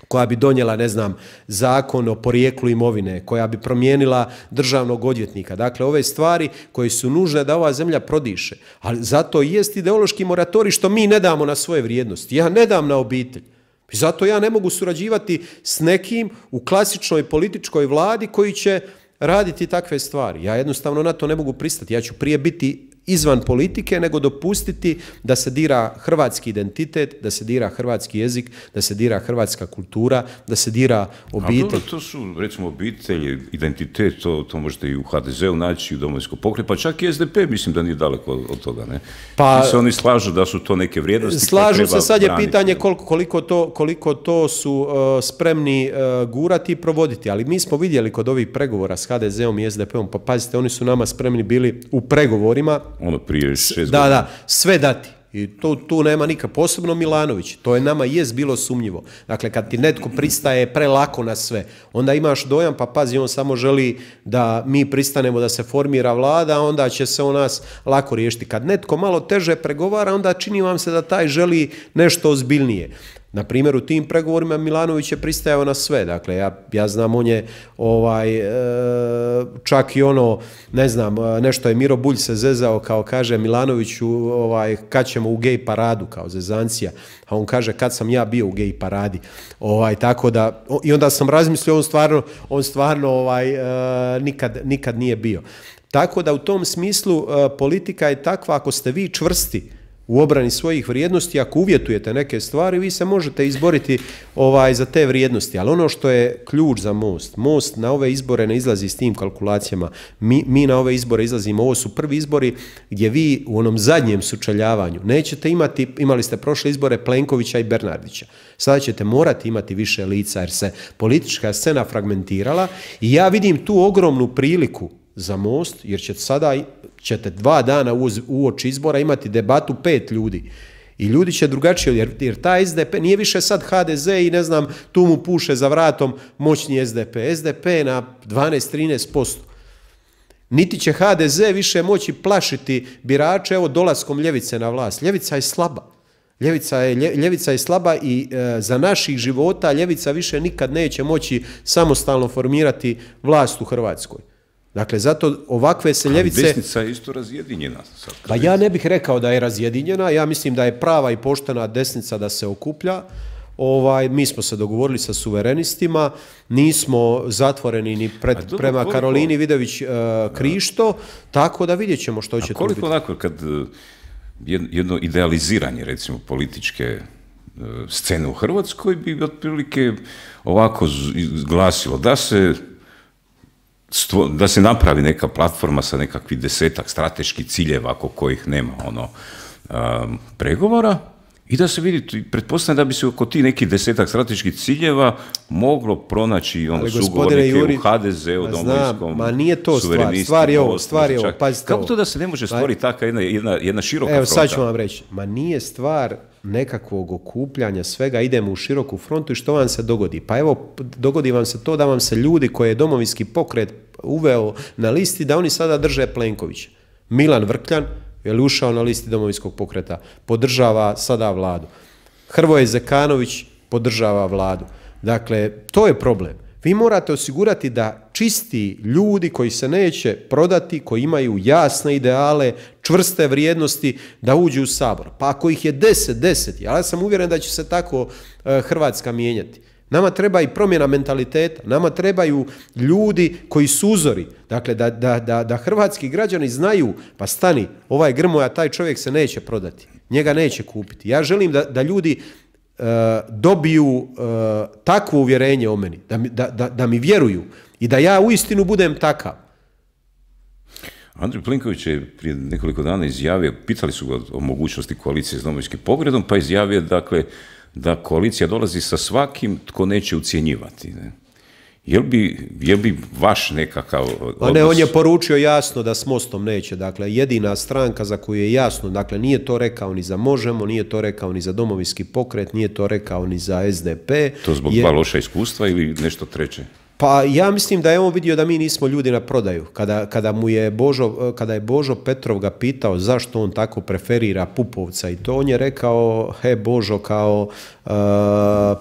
koja bi donijela, ne znam, zakon o porijeklu imovine, koja bi promijenila državnog odvjetnika. Dakle, ove stvari koje su nužne da ova zemlja prodiše. Ali zato i jest ideološki moratorij što mi ne damo na svoje vrijednosti. Ja ne dam na obitelj. I zato ja ne mogu surađivati s nekim u klasičnoj političkoj vladi koji će raditi takve stvari. Ja jednostavno na to ne mogu pristati. Ja ću prije biti izvan politike nego dopustiti da se dira hrvatski identitet, da se dira hrvatski jezik, da se dira hrvatska kultura, da se dira obitelj. A dobro, to su, recimo, obitelj, identitet, to, to možete i u H D Z-u naći, u Domovinskom pokretu, pa čak i S D P mislim da nije daleko od toga, ne? Pa se oni slažu da su to neke vrijednosti. Slažu se, sad je pitanje koliko, koliko, to, koliko to su uh, spremni uh, gurati i provoditi, ali mi smo vidjeli kod ovih pregovora s H D Z-om i S D P-om, pa pazite, oni su nama spremni bili u pregovorima, ono prije šest da, godina. Da, sve dati. I tu, tu nema nikak, posebno Milanović. To je nama jest bilo sumnjivo. Dakle, kad ti netko pristaje prelako na sve, onda imaš dojam, pa pazi, on samo želi da mi pristanemo da se formira vlada, onda će se o nas lako riješiti. Kad netko malo teže pregovara, onda čini vam se da taj želi nešto ozbiljnije. Na primjer, u tim pregovorima Milanović je pristajao na sve. Dakle, ja, ja znam, on je ovaj, e, čak i ono, ne znam, nešto je Miro Bulj se zezao, kao kaže Milanoviću, ovaj, kad ćemo u gej paradu, kao zezancija. A on kaže, kad sam ja bio u gej paradi. Ovaj, tako da, i onda sam razmislio, on stvarno, on stvarno ovaj, e, nikad, nikad nije bio. Tako da u tom smislu e, politika je takva, ako ste vi čvrsti u obrani svojih vrijednosti, ako uvjetujete neke stvari, vi se možete izboriti ovaj, za te vrijednosti. Ali ono što je ključ za Most, Most na ove izbore ne izlazi s tim kalkulacijama. Mi, mi na ove izbore izlazimo, ovo su prvi izbori gdje vi u onom zadnjem sučeljavanju nećete imati, imali ste prošle izbore Plenkovića i Bernardića. Sada ćete morati imati više lica jer se politička scena fragmentirala i ja vidim tu ogromnu priliku za Most, jer ćete sada ćete dva dana uoči izbora imati debatu pet ljudi. I ljudi će drugačije, jer, jer ta S D P nije više sad H D Z i ne znam, tu mu puše za vratom moćni S D P. S D P na dvanaest do trinaest posto. Niti će H D Z više moći plašiti birače, evo, dolaskom ljevice na vlast. Ljevica je slaba. Ljevica je, ljevica je slaba i e, za naših života ljevica više nikad neće moći samostalno formirati vlast u Hrvatskoj. Dakle, zato ovakve se ljevice... A desnica je isto razjedinjena. Sad, pa ja ne bih rekao da je razjedinjena, ja mislim da je prava i poštena desnica da se okuplja. Ovaj, mi smo se dogovorili sa suverenistima, nismo zatvoreni ni pred, dobro, prema koliko... Karolini Vidović uh, Krišto, tako da vidjet ćemo što će to biti. A koliko onako kad jedno idealiziranje, recimo, političke uh, scene u Hrvatskoj bi otprilike ovako glasilo da se... da se napravi neka platforma sa nekakvih desetak strateških ciljeva oko kojih nema ono um, pregovora i da se vidi, pretpostavljam da bi se oko tih nekih desetak strateških ciljeva moglo pronaći ono sugovornike Juri, u H D Z-u, Domovinskom, ma nije to stvar, stvar je ovo, stvar je ovo, pazite kako to da se ne može stvoriti takva jedna, jedna, jedna široka Evo, fronta? Evo sad ću vam reći, ma nije stvar nekakvog okupljanja svega, idemo u široku frontu i što vam se dogodi? Pa evo, dogodi vam se to da vam se ljudi koje je Domovinski pokret uveo na listi, da oni sada drže Plenkovića. Milan Vrkljan je li ušao na listi Domovinskog pokreta, podržava sada vladu. Hrvoje Zekanović podržava vladu. Dakle, to je problem. Vi morate osigurati da čisti ljudi koji se neće prodati, koji imaju jasne ideale, čvrste vrijednosti, da uđu u Sabor. Pa ako ih je deset, deset, ja sam uvjeren da će se tako uh, Hrvatska mijenjati. Nama treba i promjena mentaliteta, nama trebaju ljudi koji su uzori. Dakle, da, da, da, da hrvatski građani znaju, pa stani, ovaj Grmoja, taj čovjek se neće prodati, njega neće kupiti. Ja želim da, da ljudi uh, dobiju uh, takvo uvjerenje o meni, da mi, da, da, da mi vjeruju i da ja uistinu budem takav. Andrej Plenković je prije nekoliko dana izjavio, pitali su ga o mogućnosti koalicije s Domovinskim pokretom, pa izjavio, dakle, da koalicija dolazi sa svakim tko neće ucjenjivati. Ne? Jel bi, jel bi vaš nekakav odnos... A ne, on je poručio jasno da s Mostom neće. Dakle, jedina stranka za koju je jasno, dakle, nije to rekao ni za Možemo, nije to rekao ni za Domovinski pokret, nije to rekao ni za S D P. To zbog je... dva loša iskustva ili nešto treće? Pa ja mislim da je on vidio da mi nismo ljudi na prodaju. Kada, kada mu je Božo, kada je Božo Petrov ga pitao zašto on tako preferira Pupovca i to, on je rekao, he Božo, kao uh,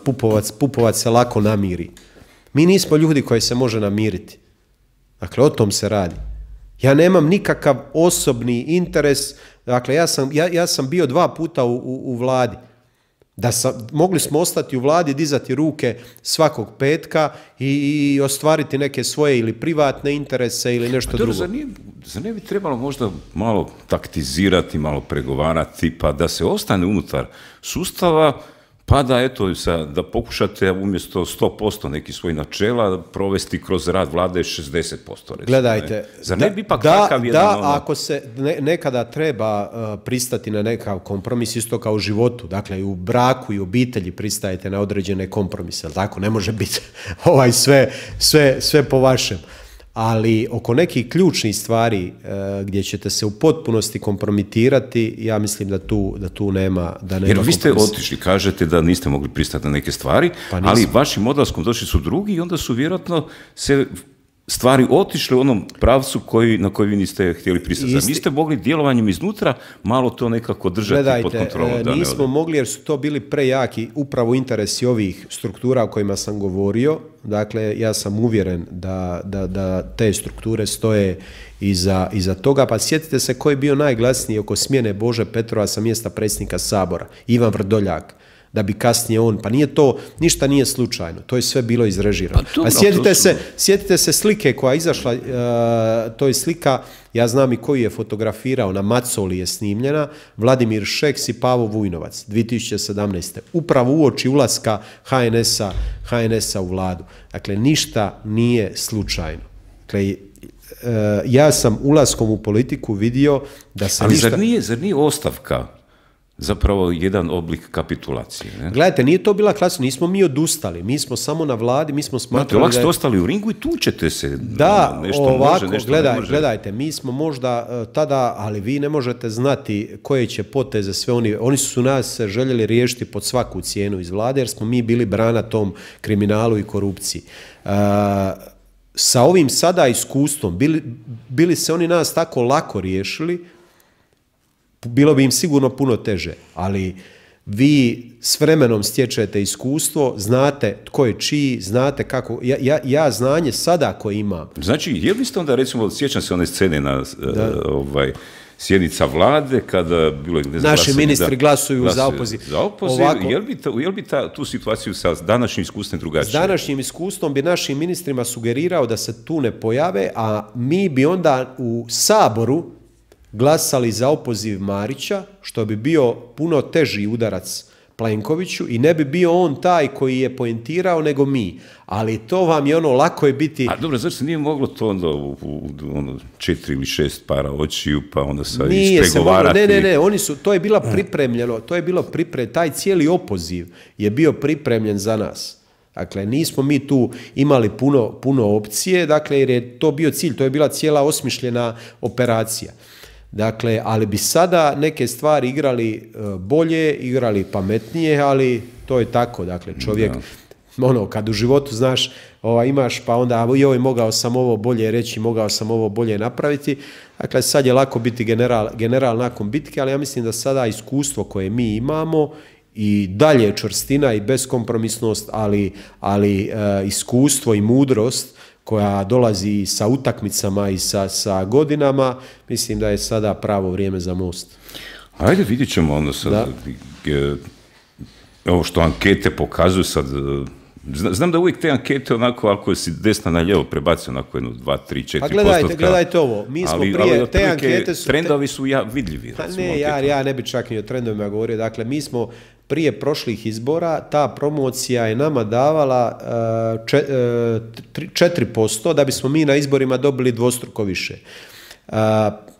Pupovac, Pupovac se lako namiri. Mi nismo ljudi koji se može namiriti. Dakle, o tom se radi. Ja nemam nikakav osobni interes. Dakle, ja sam, ja, ja sam bio dva puta u, u, u vladi. Da sam, mogli smo ostati u vladi, dizati ruke svakog petka i, i ostvariti neke svoje ili privatne interese ili nešto dobro, drugo. Zar, nije, zar ne bi trebalo možda malo taktizirati, malo pregovarati, pa da se ostane unutar sustava, pa da, eto, sa, da pokušate umjesto sto posto neki svoj načela provesti kroz rad vlade šezdeset posto. Recimo, gledajte, ne? Zar ne bi ipak da, takav jedan... Da, ono... ako se ne, nekada treba uh, pristati na nekakav kompromis, isto kao u životu, dakle i u braku i u obitelji pristajete na određene kompromise, ali tako, ne može biti ovaj sve, sve, sve po vašem. Ali oko nekih ključnih stvari uh, gdje ćete se u potpunosti kompromitirati, ja mislim da tu, da tu nema, da nema Jer vi ste kompromisa. otišli, kažete da niste mogli pristati na neke stvari, Pa ali vašim odlaskom došli su drugi i onda su vjerojatno se stvari otišle u onom pravcu koji, na koji vi niste htjeli pristati. Isti... Niste mogli djelovanjem iznutra malo to nekako držati Gledajte, pod kontrolom? Gledajte, nismo mogli jer su to bili prejaki upravo interesi ovih struktura o kojima sam govorio. Dakle, ja sam uvjeren da, da, da te strukture stoje iza, iza toga. Pa sjetite se ko je bio najglasniji oko smjene Bože Petrova sa mjesta predsjednika Sabora. Ivan Vrdoljak. Da bi kasnije on, pa nije to, ništa nije slučajno, to je sve bilo izrežirano. Pa, dobro, a sjetite, su... se, sjetite se slike koja je izašla, uh, to je slika, ja znam i koji je fotografirao, na Macoli je snimljena, Vladimir Šeks i Pavo Vujnovac, dvije tisuće sedamnaeste. Upravo uoči ulaska ha en esa, ha en esa u vladu. Dakle, ništa nije slučajno. Dakle, uh, ja sam ulaskom u politiku vidio da se Ali ništa... zar nije, zar nije ostavka zapravo jedan oblik kapitulacije? Ne? Gledajte, nije to bila klasa, nismo mi odustali, mi smo samo na vladi, mi smo smatrali Znate, da... ste ostali u ringu i tučete se. Da, nešto ovako, može, nešto gledaj, ne može. gledajte, mi smo možda uh, tada, ali vi ne možete znati koje će poteze sve oni, oni su nas željeli riješiti pod svaku cijenu iz vlade, jer smo mi bili brana tom kriminalu i korupciji. Uh, sa ovim sada iskustvom, bili, bili se oni nas tako lako riješili, bilo bi im sigurno puno teže, ali vi s vremenom stječete iskustvo, znate tko je čiji, znate kako, ja, ja, ja znanje sada koje imam. Znači, je li ste onda, recimo, sjećam se one scene na uh, ovaj, sjednica vlade, kada bilo je... Ne znam, naši glasanje, ministri da, glasuju, glasuju za opoziv. Za opoziv, Ovako, je li bi, ta, je li bi ta, tu situaciju sa današnjim iskustvom drugačije? S današnjim iskustvom bi našim ministrima sugerirao da se tu ne pojave, a mi bi onda u Saboru glasali za opoziv Marića, što bi bio puno teži udarac Plenkoviću i ne bi bio on taj koji je poentirao nego mi. Ali to vam je ono, lako je biti... A dobro, zašto se nije moglo to onda u, u ono, četiri ili šest para očiju, pa onda sad ispregovarati? Ne, ne, ne, oni su, to je bilo pripremljeno, to je bilo pripremljeno, taj cijeli opoziv je bio pripremljen za nas. Dakle, nismo mi tu imali puno, puno opcije, dakle, jer je to bio cilj, to je bila cijela osmišljena operacija. Dakle, ali bi sada neke stvari igrali bolje, igrali pametnije, ali to je tako, dakle, čovjek, da. ono, kad u životu, znaš, ova, imaš, pa onda, joj, mogao sam ovo bolje reći, mogao sam ovo bolje napraviti, dakle, sad je lako biti general, general nakon bitke, ali ja mislim da sada iskustvo koje mi imamo i dalje čvrstina i beskompromisnost, ali, ali e, iskustvo i mudrost koja dolazi sa utakmicama i sa, sa godinama, mislim da je sada pravo vrijeme za Most. Ajde, vidjet ćemo onda sad, ovo što ankete pokazuju sad, Znam da uvijek te ankete onako, ako si desna na lijevo prebaci onako jednu, dva, tri, četiri postotka. Pa gledajte, gledajte ovo, mi smo ali, prije, ali, te ankete su... Trendovi su ja, vidljivi. Pa ne, ja, ja ne bi čak ni o trendovima govorio, dakle mi smo prije prošlih izbora, ta promocija je nama davala četiri posto da bismo mi na izborima dobili dvostruko više.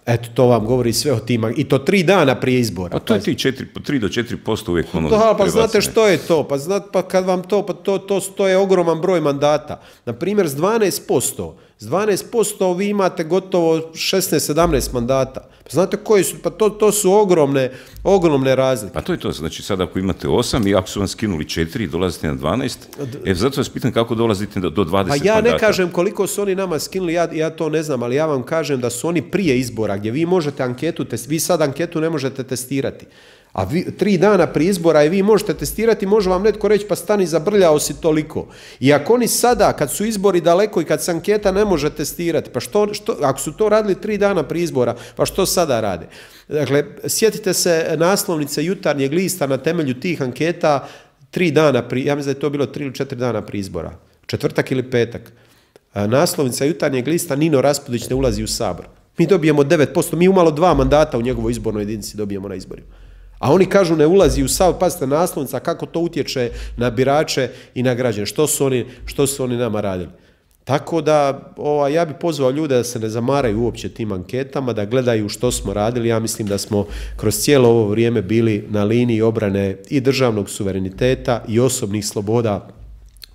Eto, to vam govori sve o tima, i to tri dana prije izbora. Pa to je ti tri do četiri posto uvijek ono... Da, pa znate što je to? Pa, znate, pa kad vam to, pa to, to, to je ogroman broj mandata. Naprimjer, s dvanaest posto, s dvanaest posto vi imate gotovo šesnaest sedamnaest mandata. Pa znate koji su, pa to, to su ogromne, ogromne razlike. Pa to je to, znači sad ako imate osam i ako su vam skinuli četiri, dolazite na dvanaest, e, zato vas pitam kako dolazite do dvadeset pa ja mandata. Ne kažem koliko su oni nama skinuli, ja, ja to ne znam, ali ja vam kažem da su oni prije izbora, gdje vi možete anketu, vi sad anketu ne možete testirati. A vi, tri dana prije izbora i vi možete testirati, može vam netko reći pa stani, zabrljao si toliko. I ako oni sada, kad su izbori daleko i kad se anketa ne može testirati, pa što, što, ako su to radili tri dana prije izbora, pa što sada rade? Dakle, sjetite se naslovnice Jutarnjeg lista na temelju tih anketa tri dana prije, ja mislim da je to bilo tri ili četiri dana prije izbora. Četvrtak ili petak. Naslovnica Jutarnjeg lista, Nino Raspudić ne ulazi u Sabor. Mi dobijemo devet posto, mi umalo dva mandata u njegovoj izbornoj jedinici dobijemo na izborima. A oni kažu ne ulazi u Sabor, pazite naslovnica, kako to utječe na birače i na građane, što su oni, što su oni nama radili. Tako da ova, ja bih pozvao ljude da se ne zamaraju uopće tim anketama, da gledaju što smo radili. Ja mislim da smo kroz cijelo ovo vrijeme bili na liniji obrane i državnog suvereniteta i osobnih sloboda.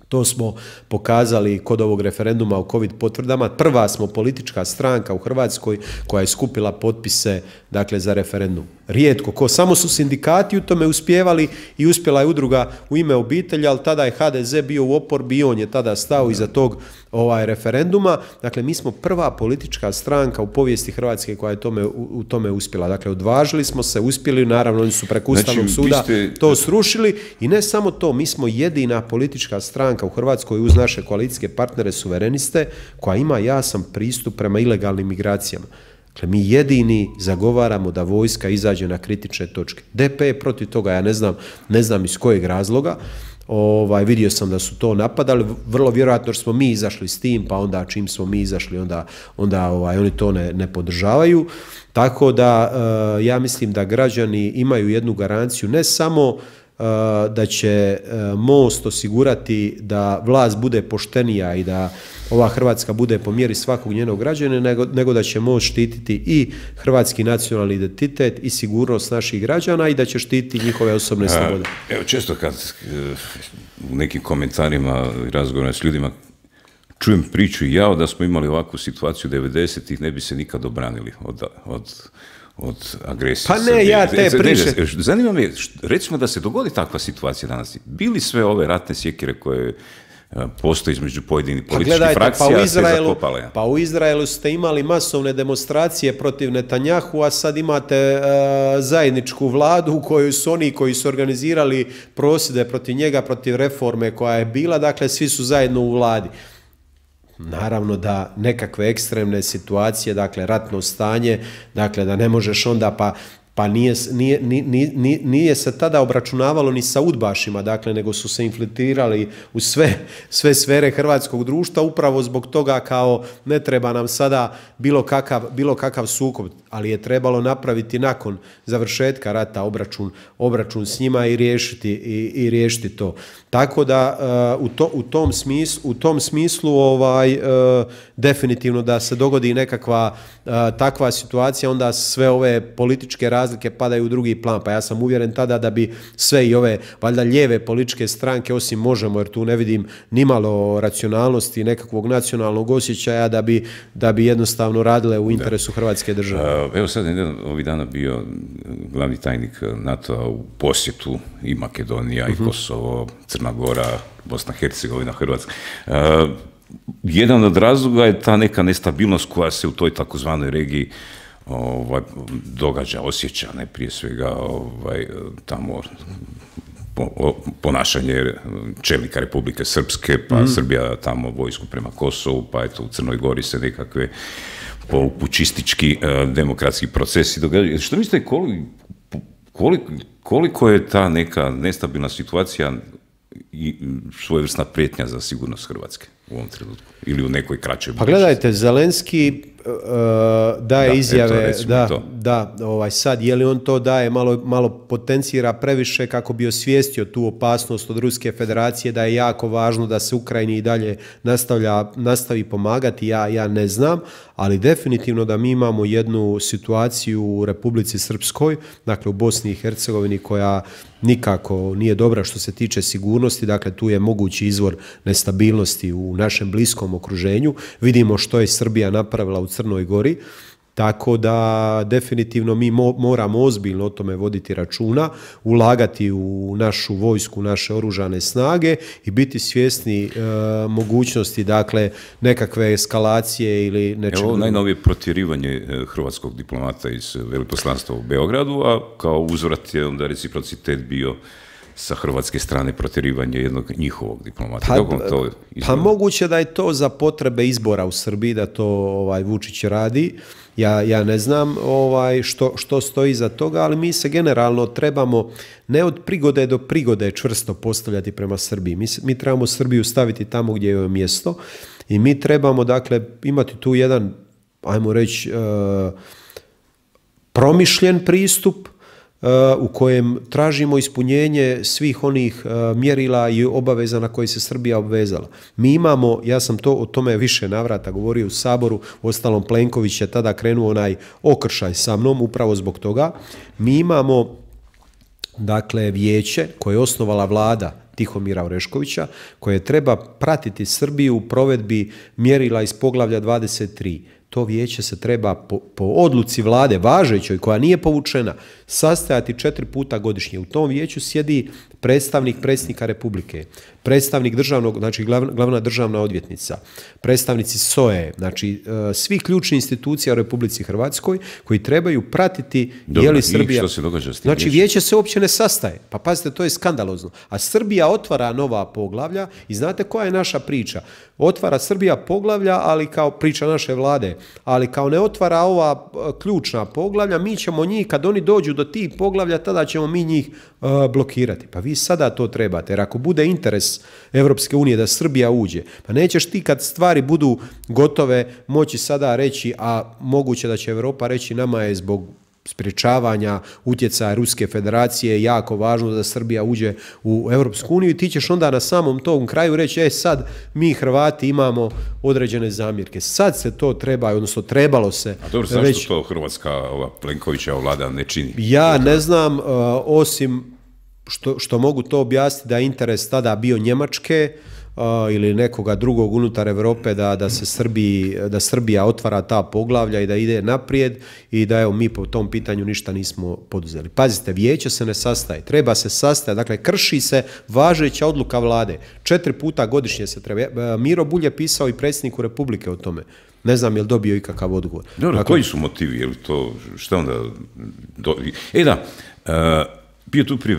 To smo pokazali kod ovog referenduma o COVID potvrdama. Prva smo politička stranka u Hrvatskoj koja je skupila potpise, dakle, za referendum. Rijetko ko, samo su sindikati u tome uspjevali i uspjela je udruga U ime obitelji, ali tada je H D Z bio u oporbi i on je tada stao iza tog ovaj, referenduma. Dakle, mi smo prva politička stranka u povijesti Hrvatske koja je tome, u, u tome uspjela. Dakle, odvažili smo se, uspjeli, naravno oni su preko Ustavnog znači, suda ste... to srušili i ne samo to, mi smo jedina politička stranka u Hrvatskoj uz naše koalicijske partnere suvereniste koja ima jasan pristup prema ilegalnim migracijama. Dakle, mi jedini zagovaramo da vojska izađe na kritične točke. D P je protiv toga, ja ne znam, ne znam iz kojeg razloga. Ovaj, vidio sam da su to napadali, vrlo vjerojatno smo mi izašli s tim, pa onda čim smo mi izašli, onda, onda ovaj, oni to ne, ne podržavaju. Tako da uh, ja mislim da građani imaju jednu garanciju, ne samo da će MOST osigurati da vlast bude poštenija i da ova Hrvatska bude po mjeri svakog njenog građana, nego, nego da će MOST štititi i hrvatski nacionalni identitet i sigurnost naših građana i da će štititi njihove osobne slobode. Evo, često kad u nekim komentarima i razgovorima s ljudima čujem priču i ja da smo imali ovakvu situaciju devedesetih, ne bi se nikad obranili od, od od agresije. Pa ne, ja te priče. Zanima me, recimo da se dogodi takva situacija danas. Bili sve ove ratne sjekire koje postoje između pojedinih političkih pa frakcija, pa u Izraelu, sve zakopale? Pa u Izraelu ste imali masovne demonstracije protiv Netanjahu, a sad imate uh, zajedničku vladu u kojoj su oni koji su organizirali prosvjede protiv njega, protiv reforme koja je bila, dakle svi su zajedno u vladi. Naravno da nekakve ekstremne situacije, dakle ratno stanje, dakle da ne možeš onda pa pa nije, nije, nije, nije se tada obračunavalo ni sa udbašima, dakle, nego su se infiltrirali u sve, sve sfere hrvatskog društva, upravo zbog toga kao ne treba nam sada bilo kakav, bilo kakav sukob, ali je trebalo napraviti nakon završetka rata obračun, obračun s njima i riješiti, i, i riješiti to. Tako da uh, u, to, u, tom smislu, u tom smislu ovaj, uh, definitivno da se dogodi nekakva uh, takva situacija, onda sve ove političke razlike padaju u drugi plan. Pa ja sam uvjeren tada da bi sve i ove valjda lijeve političke stranke, osim Možemo, jer tu ne vidim nimalo racionalnosti, nekakvog nacionalnog osjećaja, da bi, da bi jednostavno radile u interesu da. Hrvatske države. Evo sad je ovih dana bio glavni tajnik NATO-a u posjetu i Makedonija, uh-huh. i Kosovo, Crna Gora, Bosna, Hercegovina, Hrvatska. Uh, jedan od razloga je ta neka nestabilnost koja se u toj takozvanoj regiji ovaj, događa, osjeća, ne prije svega ovaj, tamo po, ponašanje čelnika Republike Srpske, pa mm. Srbija tamo vojsku prema Kosovu, pa eto u Crnoj Gori se nekakve polupučistički uh, demokratski procesi događaju. Što mislite, koliko, koliko, koliko je ta neka nestabilna situacija i svojevrsna prijetnja za sigurnost Hrvatske u ovom trenutku ili u nekoj kraćoj Pa gledajte, Zelenski uh, daje da, izjave, eto, da, to. da, ovaj, sad je li on to daje, malo, malo potencira previše kako bi osvijestio tu opasnost od Ruske federacije, da je jako važno da se Ukrajini i dalje nastavlja, nastavi pomagati, ja, ja ne znam, ali definitivno da mi imamo jednu situaciju u Republici Srpskoj, dakle u Bosni i Hercegovini, koja nikako nije dobra što se tiče sigurnosti, dakle tu je mogući izvor nestabilnosti u našem bliskom okruženju. Vidimo što je Srbija napravila u Crnoj Gori, tako da definitivno mi mo moramo ozbiljno o tome voditi računa, ulagati u našu vojsku, naše oružane snage i biti svjesni e, mogućnosti, dakle, nekakve eskalacije ili nečega. Evo najnovije protjerivanje hrvatskog diplomata iz veleposlanstva u Beogradu, a kao uzvrat je onda reciprocitet bio sa hrvatske strane protjerivanje jednog njihovog diplomata. Pa, Kako to pa moguće da je to za potrebe izbora u Srbiji, da to ovaj, Vučić radi. Ja, ja ne znam ovaj, što, što stoji za toga, ali mi se generalno trebamo ne od prigode do prigode čvrsto postavljati prema Srbiji. Mi, mi trebamo Srbiju staviti tamo gdje je mjesto i mi trebamo, dakle, imati tu jedan, ajmo reći, uh, promišljen pristup u kojem tražimo ispunjenje svih onih mjerila i obaveza na koje se Srbija obvezala. Mi imamo, ja sam to o tome više navrata govorio u Saboru, uostalom Plenković je tada krenuo onaj okršaj sa mnom upravo zbog toga. Mi imamo, dakle, vijeće koje je osnovala vlada Tihomira Oreškovića, koje treba pratiti Srbiju u provedbi mjerila iz poglavlja dvadeset tri. To vijeće se treba po, po odluci vlade, važećoj, koja nije povučena, sastajati četiri puta godišnje. U tom vijeću sjedi predstavnik predsjednika Republike, predstavnik državnog, znači glavna, glavna državna odvjetnica, predstavnici S O E, znači uh, svih ključnih institucija u Republici Hrvatskoj koji trebaju pratiti je li Srbija... Što se događa s tim znači vijeće se uopće ne sastaje. Pa pazite, to je skandalozno. A Srbija otvara nova poglavlja i znate koja je naša priča? Otvara Srbija poglavlja, ali kao priča naše vlade, ali kao ne otvara ova ključna poglavlja, mi ćemo njih, kad oni dođu do tih poglavlja, tada ćemo mi njih uh, blokirati. Pa vi sada to trebate, jer ako bude interes Evropske unije da Srbija uđe, pa nećeš ti kad stvari budu gotove moći sada reći, a moguće da će Europa reći nama je zbog sprječavanja utjecaja Ruske federacije jako važno da Srbija uđe u Europsku uniju i ti ćeš onda na samom tom kraju reći, e sad mi Hrvati imamo određene zamjerke. Sad se to treba, odnosno trebalo se. A dobro, zašto već... to Hrvatska, ova Plenkovićeva vlada ne čini? Ja ne znam, uh, osim što, što mogu to objasniti da je interes tada bio Njemačke, Uh, ili nekoga drugog unutar Europe da, da se Srbiji, da Srbija otvara ta poglavlja i da ide naprijed i da evo mi po tom pitanju ništa nismo poduzeli. Pazite, vijeće se ne sastaje, treba se sastajati, dakle krši se važeća odluka vlade. Četiri puta godišnje se treba. Miro Bulj je pisao i predsjedniku Republike o tome. Ne znam je li dobio ikakav odgovor. Dobro, dakle, koji su motivi? Je li to, šta onda... Do... E da, uh, bio tu prije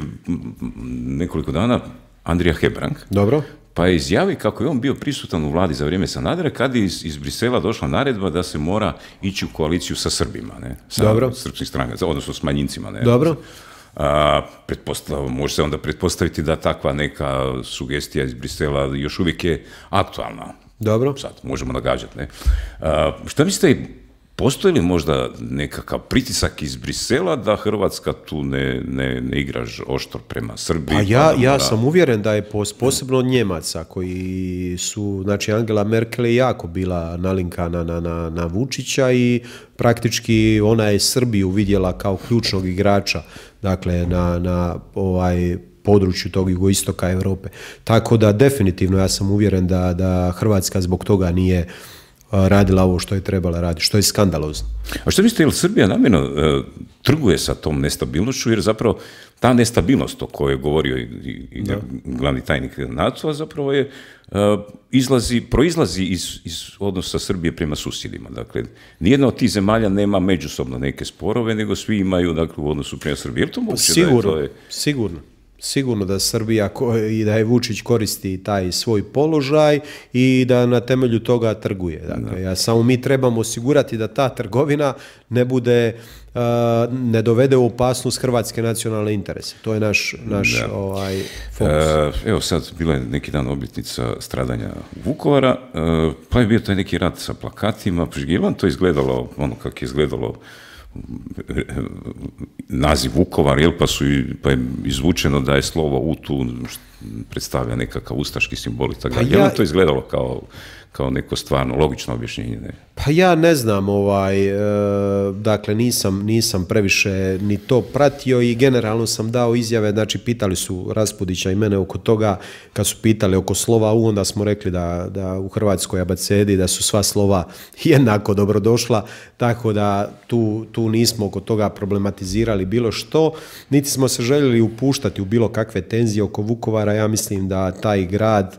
nekoliko dana Andrija Hebrang. Dobro. Pa je izjavio kako je on bio prisutan u vladi za vrijeme Sanadera kad je iz, iz Brisela došla naredba da se mora ići u koaliciju sa Srbima, ne? Sa Dobro. srpskih stranaka, odnosno s manjincima. Ne? Dobro. A, može se onda pretpostaviti da takva neka sugestija iz Brisela još uvijek je aktualna. Dobro. Sad možemo nagađati. Ne? A, šta mislite, postoji li možda nekakav pritisak iz Brisela da Hrvatska tu ne, ne, ne igra oštro prema Srbiji? Pa ja, pa ja sam uvjeren da je posebno od Njemaca koji su, znači Angela Merkel je jako bila nalinkana na, na, na Vučića i praktički ona je Srbiju vidjela kao ključnog igrača, dakle na, na ovaj području tog jugoistoka Europe. Tako da definitivno ja sam uvjeren da, da Hrvatska zbog toga nije radila ovo što je trebala raditi, što je skandalozno. A što mislite, je li Srbija namjerno uh, trguje sa tom nestabilnošću, jer zapravo ta nestabilnost o kojoj je govorio i, i glavni tajnik NATO-a zapravo je, uh, izlazi, proizlazi iz, iz odnosa Srbije prema susjedima. Dakle, nijedna od tih zemalja nema međusobno neke sporove, nego svi imaju, dakle, u odnosu prema Srbiji. Je li to moguće? Sigurno, da je to je... sigurno. sigurno da Srbija i da je Vučić koristi taj svoj položaj i da na temelju toga trguje. Dakle, ja, samo mi trebamo osigurati da ta trgovina ne bude, uh, ne dovede u opasnost hrvatske nacionalne interese. To je naš, naš ovaj, fokus. E, evo sad, bila je neki dan obljetnica stradanja Vukovara, e, pa je bio taj neki rat sa plakatima. Je li vam to izgledalo, ono kako je izgledalo naziv Vukovar, jel, pa, su, pa je izvučeno da je slovo U tu predstavlja nekakav ustaški simbol i tako. Pa je li to izgledalo kao, kao neko stvarno logično objašnjenje? Ne? Pa ja ne znam, ovaj, e, dakle nisam, nisam previše ni to pratio i generalno sam dao izjave, znači pitali su Raspudića i mene oko toga, kad su pitali oko slova U, onda smo rekli da, da u hrvatskoj abecedi da su sva slova jednako dobrodošla, tako da tu, tu nismo oko toga problematizirali bilo što, niti smo se željeli upuštati u bilo kakve tenzije oko Vukovara. Ja mislim da taj grad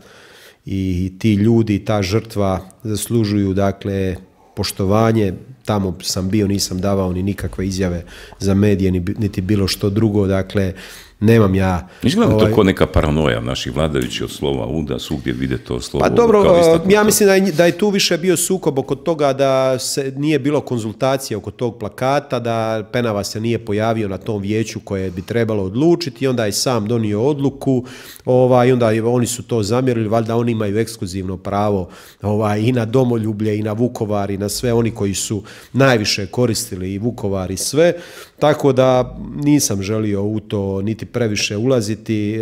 i ti ljudi, ta žrtva zaslužuju, dakle, poštovanje. Tamo sam bio, nisam davao ni nikakve izjave za medije, niti bilo što drugo, dakle, nemam ja... Izgleda ovaj... to kao neka paranoja naših vladajućih od slova U, da svugdje vide to slovo. Pa dobro, ja mislim da je, da je tu više bio sukob oko toga da se nije bilo konzultacije oko tog plakata, da Penava se nije pojavio na tom vijeću koje bi trebalo odlučiti i onda je sam donio odluku, ovaj, i onda oni su to zamjerili, valjda oni imaju ekskluzivno pravo ovaj, i na domoljublje i na Vukovar i na sve oni koji su najviše koristili i Vukovar i sve, tako da nisam želio u to niti previše ulaziti,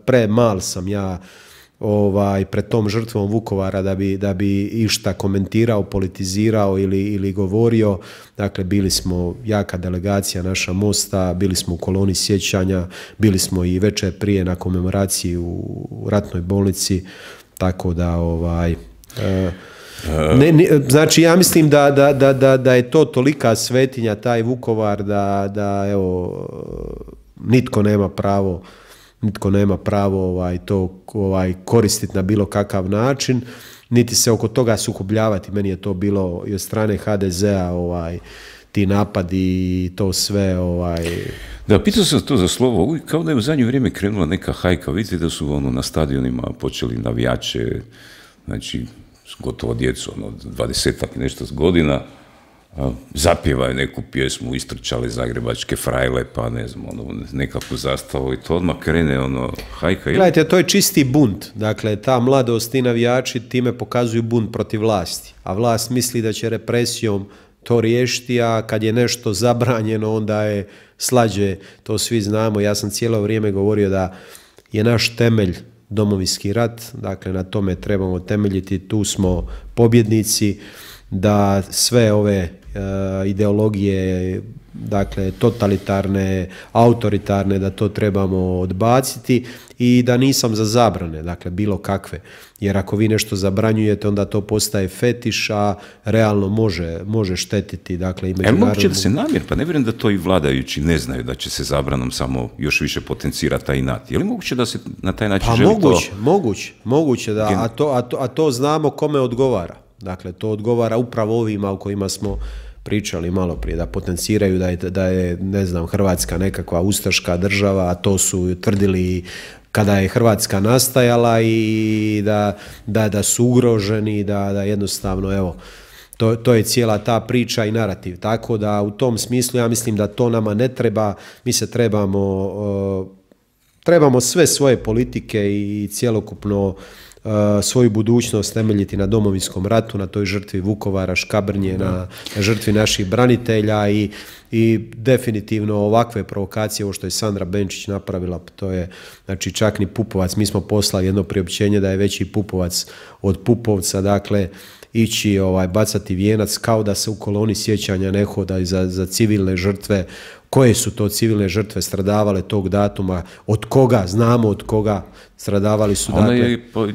premal sam ja ovaj, pred tom žrtvom Vukovara da bi, da bi išta komentirao, politizirao ili, ili govorio. Dakle, bili smo jaka delegacija naša Mosta, bili smo u koloni sjećanja, bili smo i večer prije na komemoraciji u ratnoj bolnici, tako da ovaj... E, Ne, ne, znači ja mislim da, da, da, da, da je to tolika svetinja taj Vukovar da, da evo nitko nema pravo nitko nema pravo ovaj, to ovaj, koristiti na bilo kakav način, niti se oko toga sukobljavati. Meni je to bilo i od strane ha de zea ovaj, ti napadi i to sve ovaj... Da, pitao sam to za slovo, kao da je u zadnje vrijeme krenula neka hajka, vidite da su ono, na stadionima počeli navijače, znači gotovo djecu, ono, dvadesetak i nešto godina, zapjevaju neku pjesmu, istrčali zagrebačke frajle, pa ne znam, ono, nekakvu zastavu i to odmah krene, ono, hajka. Gledajte, to je čisti bunt, dakle, ta mladost i navijači time pokazuju bunt protiv vlasti, a vlast misli da će represijom to riješiti, a kad je nešto zabranjeno, onda je slađe, to svi znamo. Ja sam cijelo vrijeme govorio da je naš temelj Domovinski rat, dakle na tome trebamo temeljiti, tu smo pobjednici, da sve ove e, ideologije, dakle totalitarne, autoritarne, da to trebamo odbaciti i da nisam za zabrane, dakle bilo kakve, jer ako vi nešto zabranjujete onda to postaje fetiš, a realno može, može štetiti, dakle i međunarodnu... Je moguće da se namjer, pa ne vjerujem da to i vladajući ne znaju da će se zabranom samo još više potencirati taj inat. Je li moguće da se na taj način pa želi moguće, to... moguće, moguće da, a to, a, to, a to znamo kome odgovara. Dakle, to odgovara upravo ovima o kojima smo pričali malo prije, da potenciraju da je, da je, ne znam, Hrvatska nekakva ustaška država, a to su tvrdili kada je Hrvatska nastajala i da, da, da su ugroženi, da, da jednostavno, evo, to, to je cijela ta priča i narativ. Tako da u tom smislu ja mislim da to nama ne treba, mi se trebamo, uh, trebamo sve svoje politike i cjelokupno Uh, svoju budućnost temeljiti na Domovinskom ratu, na toj žrtvi Vukovara, Škabrnje, na, na žrtvi naših branitelja i, i definitivno ovakve provokacije, ovo što je Sandra Benčić napravila, to je, znači čak ni Pupovac, mi smo poslali jedno priopćenje da je veći Pupovac od Pupovca, dakle ići ovaj, bacati vijenac kao da se u koloni sjećanja ne hoda za, za civilne žrtve. Koje su to civilne žrtve stradavale tog datuma, od koga, znamo od koga stradavali su. Ona dakle... je po,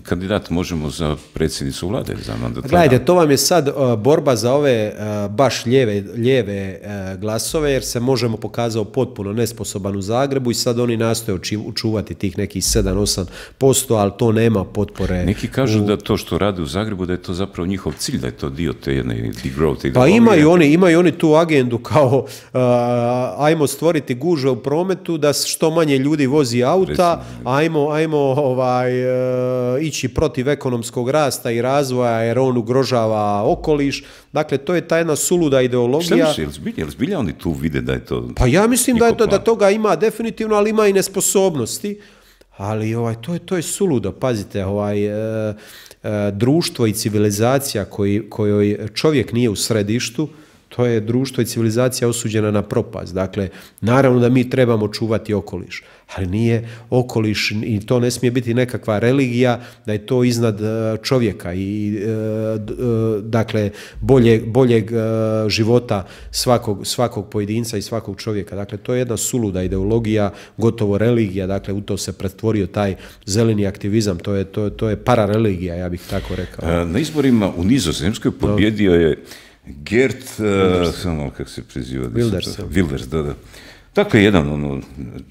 kandidat, možemo, za predsjednicu vlade. Za Gledajte, to vam je sad uh, borba za ove uh, baš lijeve, lijeve uh, glasove, jer se Možemo pokazao potpuno nesposoban u Zagrebu i sad oni nastoje učuvati tih nekih sedam do osam posto, ali to nema potpore. Neki kažu u... da to što rade u Zagrebu, da je to zapravo njihov cilj, da je to dio te jedne degrowth. Pa imaju oni, imaju oni tu agendu kao uh, ajmo stvoriti gužve u prometu, da što manje ljudi vozi auta, ajmo, ajmo ovaj, ići protiv ekonomskog rasta i razvoja jer on ugrožava okoliš. Dakle, to je ta jedna suluda ideologija. Šta misli, je li zbilja oni tu vide da je to... Pa ja mislim da, je to, da toga ima definitivno, ali ima i nesposobnosti. Ali ovaj, to, je, to je suludo, pazite, ovaj, e, e, društvo i civilizacija koji, kojoj čovjek nije u središtu, to je društvo i civilizacija osuđena na propast. Dakle, naravno da mi trebamo čuvati okoliš, ali nije okoliš i to ne smije biti nekakva religija, da je to iznad čovjeka i dakle boljeg, boljeg života svakog, svakog pojedinca i svakog čovjeka. Dakle, to je jedna suluda ideologija, gotovo religija, dakle u to se pretvorio taj zeleni aktivizam, to je, to, to je parareligija, ja bih tako rekao. Na izborima u Nizozemskoj pobjedio je Geert, uh, samo kako se preziva? Wilders. Wilders, da, da. Dakle, jedan, ono,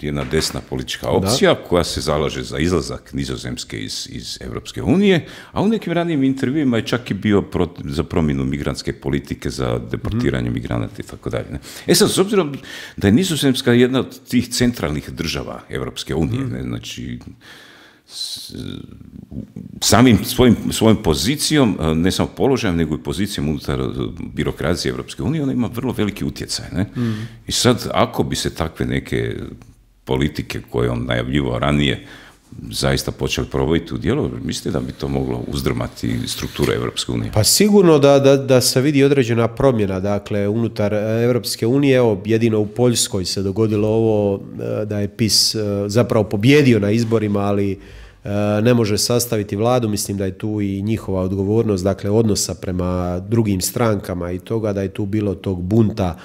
jedna desna politička opcija da. koja se zalaže za izlazak Nizozemske iz, iz Europske unije, a u nekim ranijim intervjuima je čak i bio proti, za promjenu migrantske politike, za deportiranje mm. migranata i tako dalje. E sad, s obzirom da je Nizozemska jedna od tih centralnih država Europske unije, mm. ne, znači samim svojim, svojom pozicijom, ne samo položajem, nego i pozicijom unutar birokracije Europske unije, ona ima vrlo veliki utjecaj. Ne? Mm. I sad, ako bi se takve neke politike koje on najavljivao ranije zaista počeli provoditi u djelo, mislite da bi to moglo uzdrmati strukturu Europske unije? Pa sigurno da, da, da se vidi određena promjena, dakle, unutar Europske unije, evo, jedino u Poljskoj se dogodilo ovo da je P I S zapravo pobjedio na izborima, ali ne može sastaviti vladu, mislim da je tu i njihova odgovornost, dakle, odnosa prema drugim strankama i toga, da je tu bilo tog bunta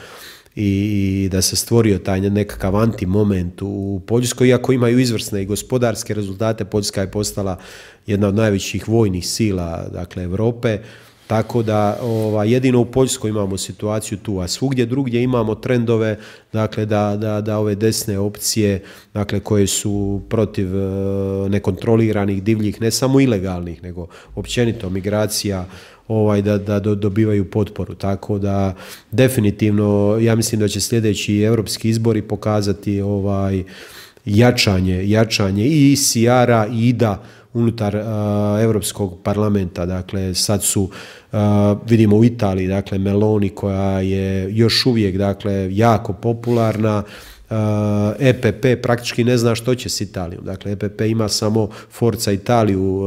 i da se stvorio taj nekakav antimoment u Poljskoj, iako imaju izvrsne i gospodarske rezultate. Poljska je postala jedna od najvećih vojnih sila, dakle, Europe, tako da ova, jedino u Poljskoj imamo situaciju tu, a svugdje drugdje imamo trendove, dakle, da, da, da ove desne opcije, dakle, koje su protiv e, nekontroliranih divljih, ne samo ilegalnih, nego općenito migracija, ovaj, da, da dobivaju potporu. Tako da definitivno ja mislim da će sljedeći europski izbori pokazati ovaj, jačanje, jačanje i I C R-a i I D A unutar uh, Europskog parlamenta. Dakle, sad su, uh, vidimo u Italiji, dakle, Meloni koja je još uvijek, dakle, jako popularna, E P P praktički ne zna što će s Italijom. Dakle, E P P ima samo Forza Italiju,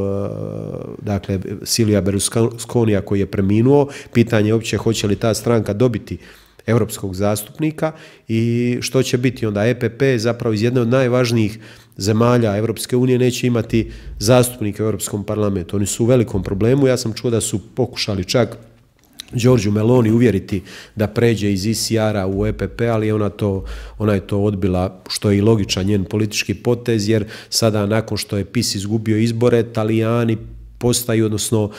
dakle, Silvia Berlusconija koji je preminuo. Pitanje je uopće hoće li ta stranka dobiti europskog zastupnika i što će biti onda. E P P zapravo iz jedne od najvažnijih zemalja Europske unije neće imati zastupnike u Europskom parlamentu. Oni su u velikom problemu. Ja sam čuo da su pokušali čak Giorgio Meloni uvjeriti da pređe iz I C R-a u E P P, ali ona, to, ona je to odbila, što je i logičan njen politički potez, jer sada nakon što je P I S izgubio izbore, Talijani postaju, odnosno uh,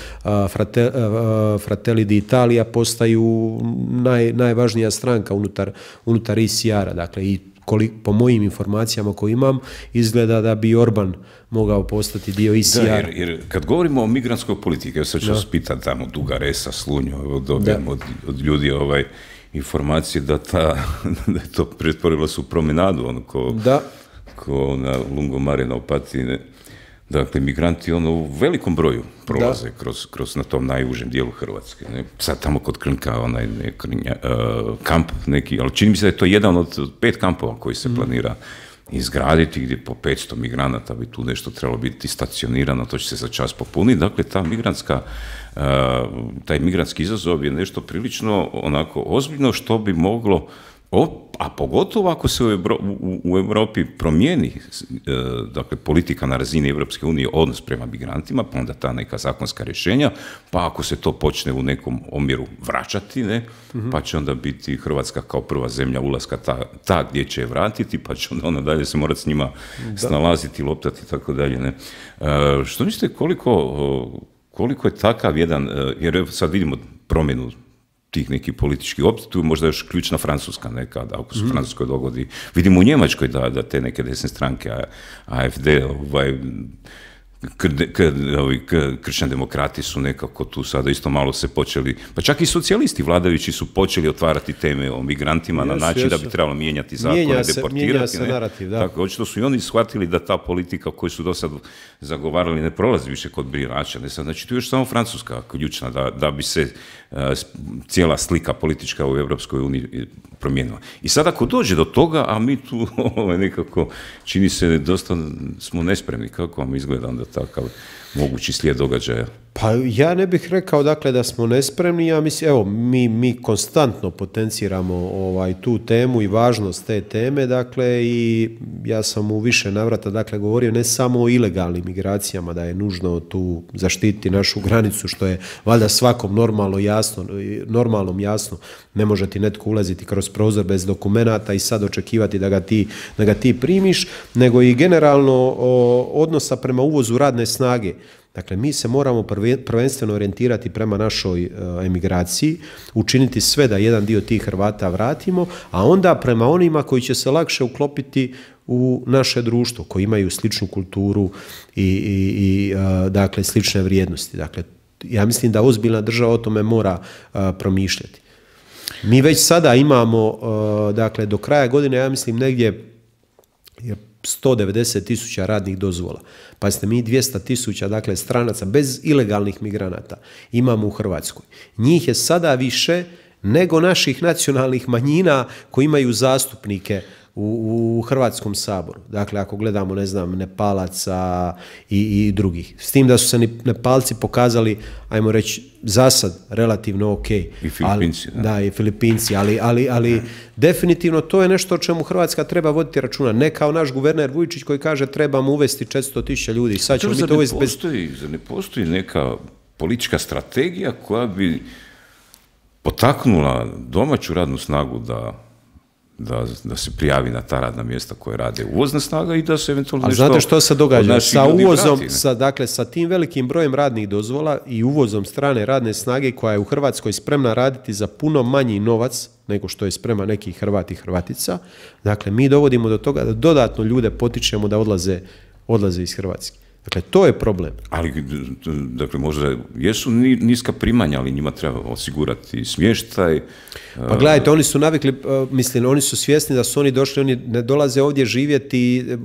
Frate, uh, Fratelli d'Italia postaju naj, najvažnija stranka unutar, unutar I C R-a. Dakle, i kolik, po mojim informacijama koje imam, izgleda da bi Orban mogao postati dio I C R-a. Da, jer, jer kad govorimo o migrantskoj politike, ja sad ću vas pitati tamo Dugaresa, Slunju, dobijem od, od ljudi ovaj, informacije da, ta, da je to pretvorilo su promenadu, ono ko, da. ko na Lungomare na Opatiji. Dakle, migranti ono u velikom broju prolaze kroz, kroz na tom najužem dijelu Hrvatske. Ne? Sad tamo kod Krnka onaj ne, krnja, uh, kamp neki, ali čini mi se da je to jedan od pet kampova koji se mm. planira izgraditi, gdje po petsto migranata bi tu nešto trebalo biti stacionirano, to će se za čas popuniti. Dakle, ta migrantska, uh, taj migrantski izazov je nešto prilično onako ozbiljno što bi moglo, o, a pogotovo ako se u, Evro, u, u Europi promijeni e, dakle, politika na razini Europske unije, odnos prema migrantima, pa onda ta neka zakonska rješenja, pa ako se to počne u nekom omjeru vraćati, ne, mm-hmm. pa će onda biti Hrvatska kao prva zemlja ulaska ta, ta gdje će je vratiti, pa će onda, onda dalje se morati s njima da. snalaziti, loptati i tako dalje. Ne. E, što mislite koliko, koliko je takav jedan, jer sad vidimo promjenu tih nekih političkih opcija, tu je možda još ključna Francuska nekada, ako se u Francuskoj dogodi. Vidimo u Njemačkoj da, da te neke desne stranke, A F D, ovaj, kršćani demokrati su nekako tu sada isto malo se počeli, pa čak i socijalisti vladajući su počeli otvarati teme o migrantima yes, na način yes. da bi trebalo mijenjati zakone, mijenja se, deportirati. Mijenja se narativ, da. Tako, očito su i oni shvatili da ta politika koju su do sad zagovarali ne prolazi više kod birača. Ne sad, znači tu je još samo Francuska ključna da, da bi se uh, cijela slika politička u Europskoj uniji promijenila. I sad ako dođe do toga, a mi tu ovaj, nekako čini se dosta smo nespremni, kako vam izgleda onda takav mogući slijed događaja? Pa ja ne bih rekao dakle da smo nespremni, ja mislim, evo, mi, mi konstantno potenciramo ovaj, tu temu i važnost te teme, dakle, i ja sam u više navrata, dakle, govorio ne samo o ilegalnim migracijama, da je nužno tu zaštititi našu granicu, što je valjda svakom normalno jasno, normalnom jasno, ne može ti netko ulaziti kroz prozor bez dokumenata i sad očekivati da ga ti, da ga ti primiš, nego i generalno o, odnosa prema uvozu radne snage. Dakle, mi se moramo prvenstveno orijentirati prema našoj emigraciji, učiniti sve da jedan dio tih Hrvata vratimo, a onda prema onima koji će se lakše uklopiti u naše društvo, koji imaju sličnu kulturu i, i, i dakle, slične vrijednosti. Dakle, ja mislim da ozbiljna država o tome mora promišljati. Mi već sada imamo, dakle, do kraja godine, ja mislim, negdje sto devedeset tisuća radnih dozvola. Pa ste mi dvjesto tisuća, dakle, stranaca bez ilegalnih migranata imamo u Hrvatskoj. Njih je sada više nego naših nacionalnih manjina koji imaju zastupnike u, u Hrvatskom saboru. Dakle, ako gledamo, ne znam, Nepalaca i, i drugih. S tim da su se Nepalci pokazali, ajmo reći, zasad relativno ok. I Filipinci. Ali, da. da, i Filipinci, ali, ali, ali definitivno to je nešto o čemu Hrvatska treba voditi računa. Ne kao naš guverner Vujčić koji kaže trebamo uvesti četiristo tisuća ljudi. Sad ćemo mi to uvesti bez... Zar ne postoji neka politička strategija koja bi potaknula domaću radnu snagu da... Da, da se prijavi na ta radna mjesta koje rade uvozna snaga i da se eventualno nešto... A znate što se događa? Sa uvozom, sa, dakle, sa tim velikim brojem radnih dozvola i uvozom strane radne snage koja je u Hrvatskoj spremna raditi za puno manji novac nego što je sprema neki Hrvat i Hrvatica, dakle, mi dovodimo do toga da dodatno ljude potičemo da odlaze, odlaze iz Hrvatske. Dakle, to je problem. Ali, dakle, možda jesu niska primanja, ali njima treba osigurati smještaj. Pa gledajte, oni su navikli, mislim, oni su svjesni da su oni došli, oni ne dolaze ovdje živjeti uh,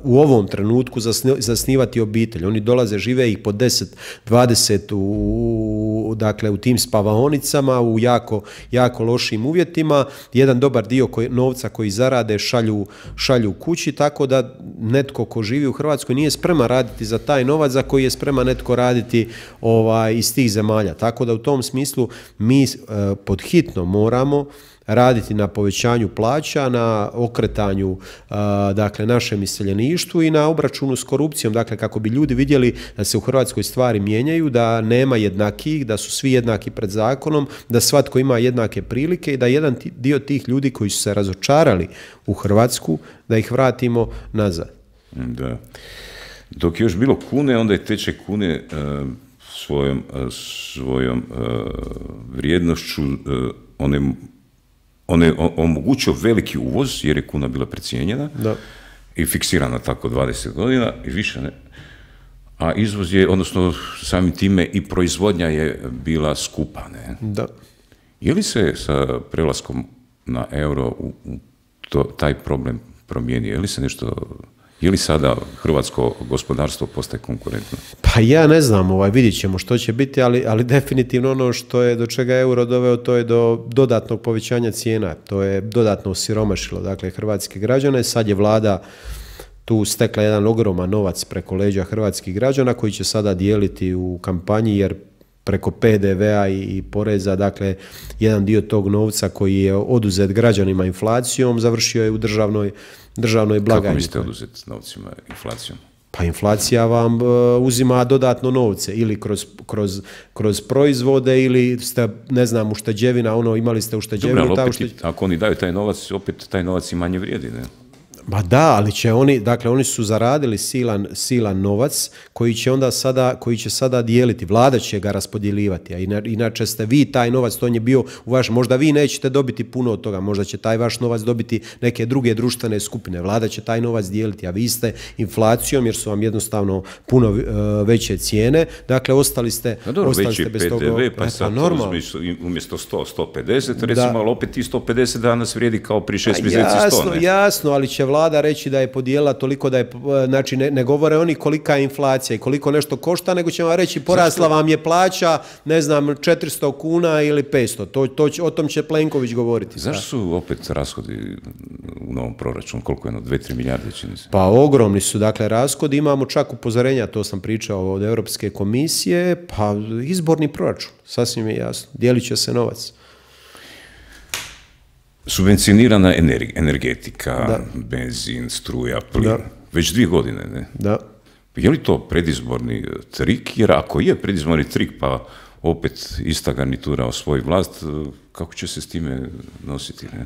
u ovom trenutku zasnivati obitelj. Oni dolaze, žive ih po deset, dvadeset u, dakle, u tim spavaonicama, u jako, jako lošim uvjetima. Jedan dobar dio koji, novca koji zarade šalju, šalju kući, tako da netko ko živi u Hrvatskoj nije spreman raditi za taj novac za koji je spreman netko raditi ovaj, iz tih zemalja. Tako da u tom smislu mi uh, pod hitno moramo raditi na povećanju plaća, na okretanju uh, dakle, našem iseljeništvu i na obračunu s korupcijom, dakle, kako bi ljudi vidjeli da se u Hrvatskoj stvari mijenjaju, da nema jednakih, da su svi jednaki pred zakonom, da svatko ima jednake prilike i da jedan dio tih ljudi koji su se razočarali u Hrvatsku, da ih vratimo nazad. Da. Dok je još bilo kune, onda je tečaj kune uh, svojom, uh, svojom uh, vrijednošću uh, one, one omogućio veliki uvoz, jer je kuna bila precijenjena da. I fiksirana tako dvadeset godina i više ne. A izvoz je, odnosno samim time i proizvodnja je bila skupa. Ne? Da. Je li se sa prelaskom na euro u, u to, taj problem promijenio? Je li se nešto... Je li sada hrvatsko gospodarstvo postaje konkurentno? Pa ja ne znam, ovaj, vidjet ćemo što će biti, ali, ali definitivno ono što je do čega je euro doveo, to je do dodatnog povećanja cijena. To je dodatno osiromašilo, dakle, hrvatske građane. Sad je vlada tu stekla jedan ogroman novac preko leđa hrvatskih građana koji će sada dijeliti u kampanji, jer preko P D V-a i, i poreza, dakle, jedan dio tog novca koji je oduzet građanima inflacijom, završio je u državnoj, državnoj blagajni. Kako mislite oduzet novcima inflacijom? Pa inflacija vam uh, uzima dodatno novce, ili kroz, kroz, kroz proizvode, ili ste, ne znam, ušteđevina, ono, imali ste ušteđevinu. Dobro, ali opet, ušteđ... ako oni daju taj novac, opet taj novac i manje vrijedi, ne? Ba da, ali će oni, dakle oni su zaradili silan, silan novac koji će onda sada, koji će sada dijeliti, vlada će ga raspodjeljivati, a inače ste vi taj novac, to on je bio u vaš, možda vi nećete dobiti puno od toga, možda će taj vaš novac dobiti neke druge društvene skupine, vlada će taj novac dijeliti, a vi ste inflacijom, jer su vam jednostavno puno uh, veće cijene, dakle ostali ste, no, dobro, ostali ste bez P D V, toga. pa sad umjesto sto, sto pedeset, recimo, da. Ali opet ti sto pedeset danas vrijedi kao prije šest mjeseci sto, jasno, ne? Jasno, ali će vlada reći da je podijelila toliko da je, znači ne, ne govore oni kolika je inflacija i koliko nešto košta, nego će vam reći porasla vam je plaća, ne znam, četiristo kuna ili petsto, to, to će, o tom će Plenković govoriti. Zašto su opet rashodi u novom proračunu, koliko je ono, dve, tri milijarde čini se? Pa ogromni su, dakle, rashodi, imamo čak upozorenja, to sam pričao od Europske komisije, pa izborni proračun, sasvim je jasno, dijelit će se novac. Subvencionirana energetika, da. Benzin, struja, plin, da. Već dvije godine, ne? Da. Je li to predizborni trik? Jer ako je predizborni trik, pa opet ista garnitura osvoji vlast, kako će se s time nositi? Ne?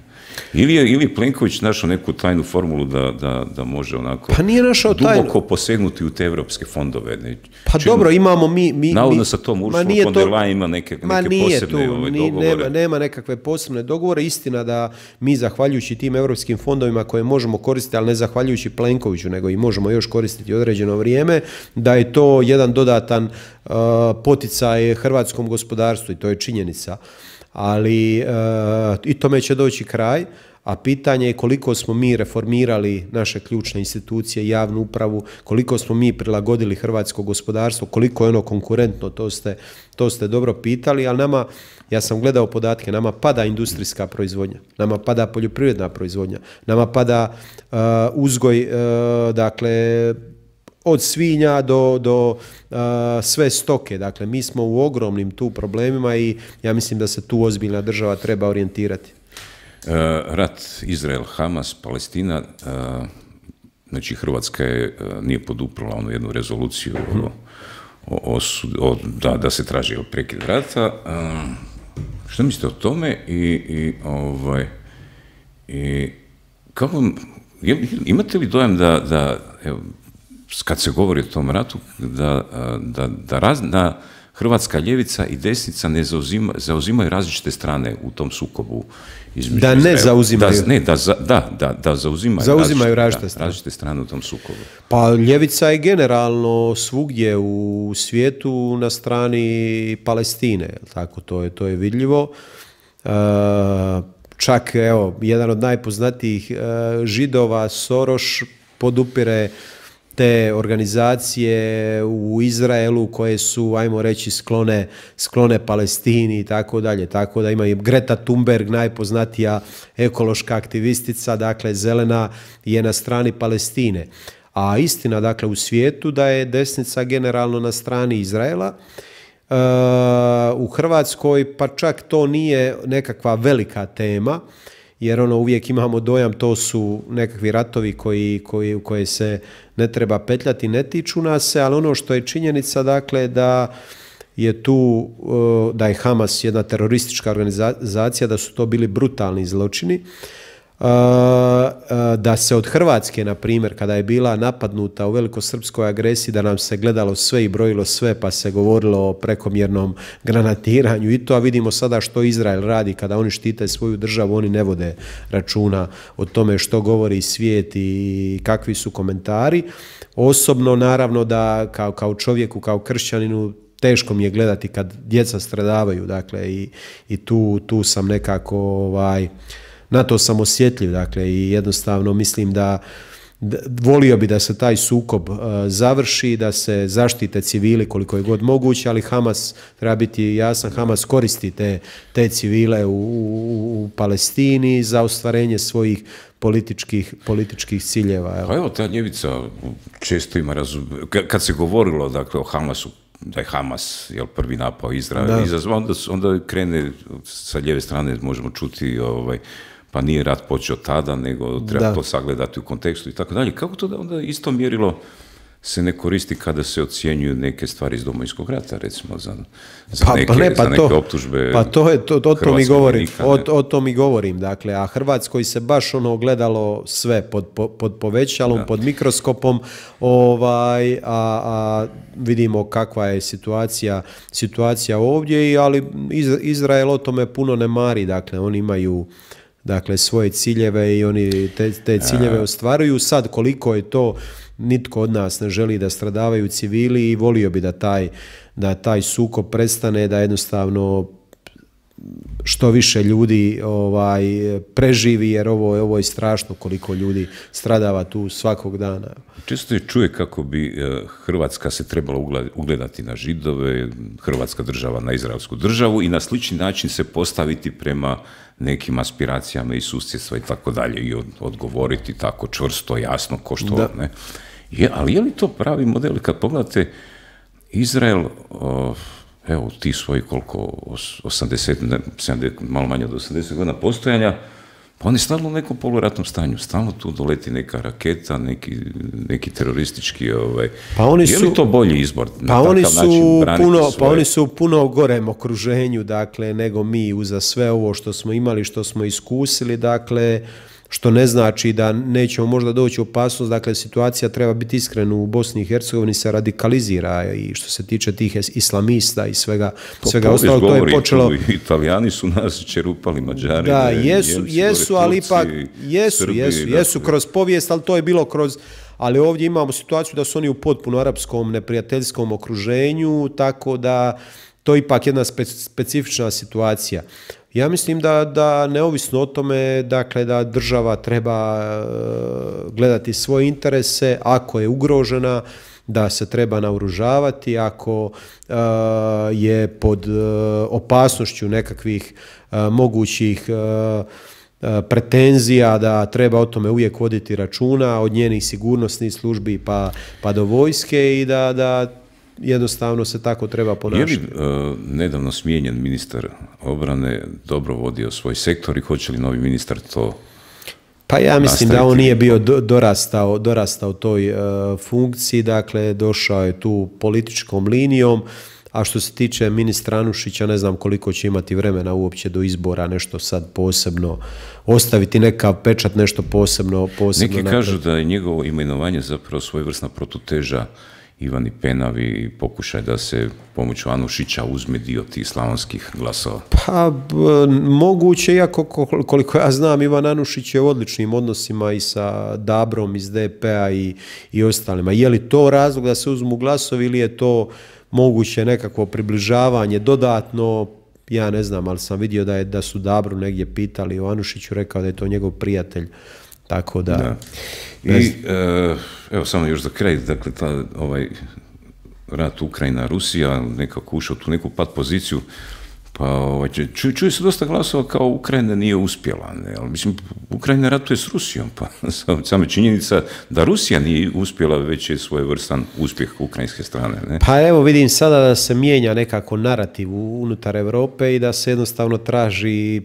Ili je ili Plenković našao neku tajnu formulu da, da, da može onako pa nije našao duboko tajnu. posegnuti u te evropske fondove? Ne? Pa Čim, dobro, imamo mi... mi navodno mi, sa tom Ursula von der Leyen ima neke, neke posebne tu, ovaj, dogovore. Nema, nema nekakve posebne dogovore. Istina da mi, zahvaljujući tim evropskim fondovima koje možemo koristiti, ali ne zahvaljujući Plenkoviću, nego i možemo još koristiti određeno vrijeme, da je to jedan dodatan uh, poticaj hrvatskom gospodarstvu i to je činjenica. Ali uh, i tome će doći kraj, a pitanje je koliko smo mi reformirali naše ključne institucije, javnu upravu, koliko smo mi prilagodili hrvatsko gospodarstvo, koliko je ono konkurentno, to ste, to ste dobro pitali, ali nama, ja sam gledao podatke, nama pada industrijska proizvodnja, nama pada poljoprivredna proizvodnja, nama pada uh, uzgoj, uh, dakle, od svinja do, do uh, sve stoke. Dakle, mi smo u ogromnim tu problemima i ja mislim da se tu ozbiljna država treba orijentirati. Uh, rat Izrael-Hamas, Palestina, uh, znači Hrvatska je, uh, nije poduprla onu jednu rezoluciju hmm. o, o, o, da, da se traži prekid rata. Uh, što mislite o tome i, i, ovaj, i kako, imate li dojam da, da evo, kad se govori o tom ratu, da, da, da razna hrvatska ljevica i desnica ne zauzima, zauzimaju različite strane u tom sukobu između da ne zauzimaju. Da, ne, da, da, da, da zauzimaju, zauzimaju različite, različite, strane. različite strane u tom sukobu. Pa ljevica je generalno svugdje u svijetu na strani Palestine, tako to je, to je vidljivo. E, čak, evo, jedan od najpoznatijih e, Židova, Soros, podupire te organizacije u Izraelu koje su, ajmo reći, sklone, sklone Palestini i tako dalje. Tako da ima i Greta Thunberg, najpoznatija ekološka aktivistica, dakle zelena, je na strani Palestine. A istina, dakle, u svijetu da je desnica generalno na strani Izraela. E, u Hrvatskoj pa čak to nije nekakva velika tema, jer ono uvijek imamo dojam to su nekakvi ratovi koji, koji, u koje se ne treba petljati, ne tiču nas se, ali ono što je činjenica, dakle, da je tu, da je Hamas jedna teroristička organizacija, da su to bili brutalni zločini, da se od Hrvatske, na primjer, kada je bila napadnuta u velikosrpskoj agresiji, da nam se gledalo sve i brojilo sve, pa se govorilo o prekomjernom granatiranju i to, a vidimo sada što Izrael radi kada oni štite svoju državu, oni ne vode računa o tome što govori svijet i kakvi su komentari. Osobno, naravno, da kao, kao čovjeku, kao kršćaninu, teško mi je gledati kad djeca stradavaju, dakle, i, i tu, tu sam nekako, ovaj, na to sam osjetljiv, dakle, i jednostavno mislim da, da volio bi da se taj sukob uh, završi, da se zaštite civili koliko je god moguće, ali Hamas, treba biti jasan, Hamas koristi te, te civile u, u, u Palestini za ostvarenje svojih političkih, političkih ciljeva. Evo. Pa evo, ta ljevica često ima razum... Kad se govorilo, dakle, o Hamasu, da je Hamas, jel, prvi napao Izrael izazvao, onda, onda krene sa lijeve strane, možemo čuti, ovaj, pa nije rat počeo tada, nego treba da. to sagledati u kontekstu i tako dalje. Kako to da onda isto mjerilo se ne koristi kada se ocjenjuju neke stvari iz Domovinskog rata, recimo za, za, pa, neke, pa ne, pa za neke to, optužbe. Pa to je, to, o tom i govorim, o, ne? o tom i govorim, dakle, a Hrvatskoj se baš ono gledalo sve pod, pod, pod povećalom, da. pod mikroskopom, ovaj, a, a vidimo kakva je situacija, situacija ovdje, ali Izrael o tome puno ne mari, dakle, oni imaju dakle svoje ciljeve i oni te, te ciljeve ostvaruju. Sad koliko je to, nitko od nas ne želi da stradavaju civili i volio bi da taj, da taj sukob prestane, da jednostavno što više ljudi ovaj, preživi, jer ovo, ovo je strašno koliko ljudi stradava tu svakog dana. Često je čuje kako bi Hrvatska se trebala ugledati na Židove, Hrvatska država na izraelsku državu i na slični način se postaviti prema nekim aspiracijama i susjedstva i tako dalje i odgovoriti tako čvrsto, jasno, ko što da. Ne. Je, ali je li to pravi model? Kad pogledate Izrael, o, evo ti svoji koliko, osamdeset, sedamdeset, malo manje od osamdeset godina postojanja, pa on je stalno u nekom poluratnom stanju, stalno tu doleti neka raketa, neki, neki teroristički, ovaj, pa oni su, je li to bolji izbor? Pa oni su puno, svoje... pa oni su puno gorem okruženju, dakle, nego mi uza sve ovo što smo imali, što smo iskusili, dakle, što ne znači da nećemo možda doći u opasnost, dakle situacija treba biti iskrena u Bosni i Hercegovini se radikalizira i što se tiče tih islamista i svega, po, svega ostalog, to je počelo... Italijani su nas čerupali, Mađari, da, jesu, Njemci, jesu, ali ipak, jesu, Srbi, jesu, jesu kroz povijest, ali to je bilo kroz... Ali ovdje imamo situaciju da su oni u potpuno arapskom neprijateljskom okruženju, tako da to je ipak jedna spe, specifična situacija. Ja mislim da, da neovisno o tome, dakle, da država treba gledati svoje interese, ako je ugrožena, da se treba naoružavati, ako uh, je pod uh, opasnošću nekakvih uh, mogućih uh, pretenzija, da treba o tome uvijek voditi računa, od njenih sigurnosnih službi pa, pa do vojske i da, da jednostavno se tako treba ponašati. Je li uh, nedavno smijenjen ministar obrane dobro vodio svoj sektor i hoće li novi ministar to Pa ja mislim nastaviti? Da on nije bio do, dorastao, dorastao toj uh, funkciji, dakle došao je tu političkom linijom, a što se tiče ministra Anušića, ne znam koliko će imati vremena uopće do izbora nešto sad posebno ostaviti, nekav pečat, nešto posebno posebno. Neki kažu da je njegovo imenovanje zapravo svojevrsna protuteža Ivani Penavi i pokušaj da se pomoću Anušića uzme dio tih slavonskih glasova. Pa moguće, iako koliko ja znam, Ivan Anušić je u odličnim odnosima i sa Dabrom iz D P-a i, i ostalima. Je li to razlog da se uzmu glasovi ili je to moguće nekakvo približavanje dodatno? Ja ne znam, ali sam vidio da, je, da su Dabru negdje pitali o Anušiću, rekao da je to njegov prijatelj. Tako da... da. I e, evo samo još za kraj, dakle ta, ovaj rat Ukrajina-Rusija nekako ušao tu neku pat poziciju, pa ovaj, čuje ču se dosta glasova kao Ukrajina nije uspjela, ne? Ali mislim, Ukrajina ratuje s Rusijom, pa sama činjenica da Rusija nije uspjela, već je svojevrstan uspjeh ukrajinske strane. Ne? Pa evo vidim sada da se mijenja nekako narativ unutar Europe i da se jednostavno traži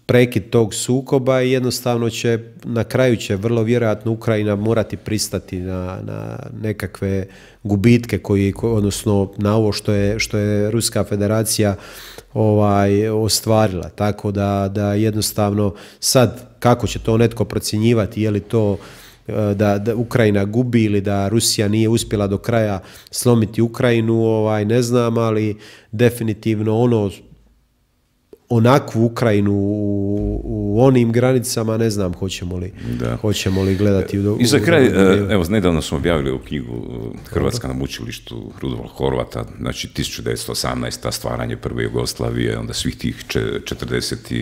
prekid tog sukoba i jednostavno će, na kraju će vrlo vjerojatno Ukrajina morati pristati na, na nekakve gubitke koji, odnosno na ovo što je, što je Ruska federacija ovaj, ostvarila. Tako da, da jednostavno sad kako će to netko procjenjivati, je li to da, da Ukrajina gubi ili da Rusija nije uspjela do kraja slomiti Ukrajinu, ovaj, ne znam, ali definitivno ono onakvu Ukrajinu u, u onim granicama, ne znam hoćemo li, hoćemo li gledati. U, I za kraj, u, evo, nedavno smo objavili u knjigu Hrvatska na mučilištu Rudolfa Horvata, znači tisuću devetsto osamnaesta. stvaranje prve Jugoslavije, onda svih tih četrdeset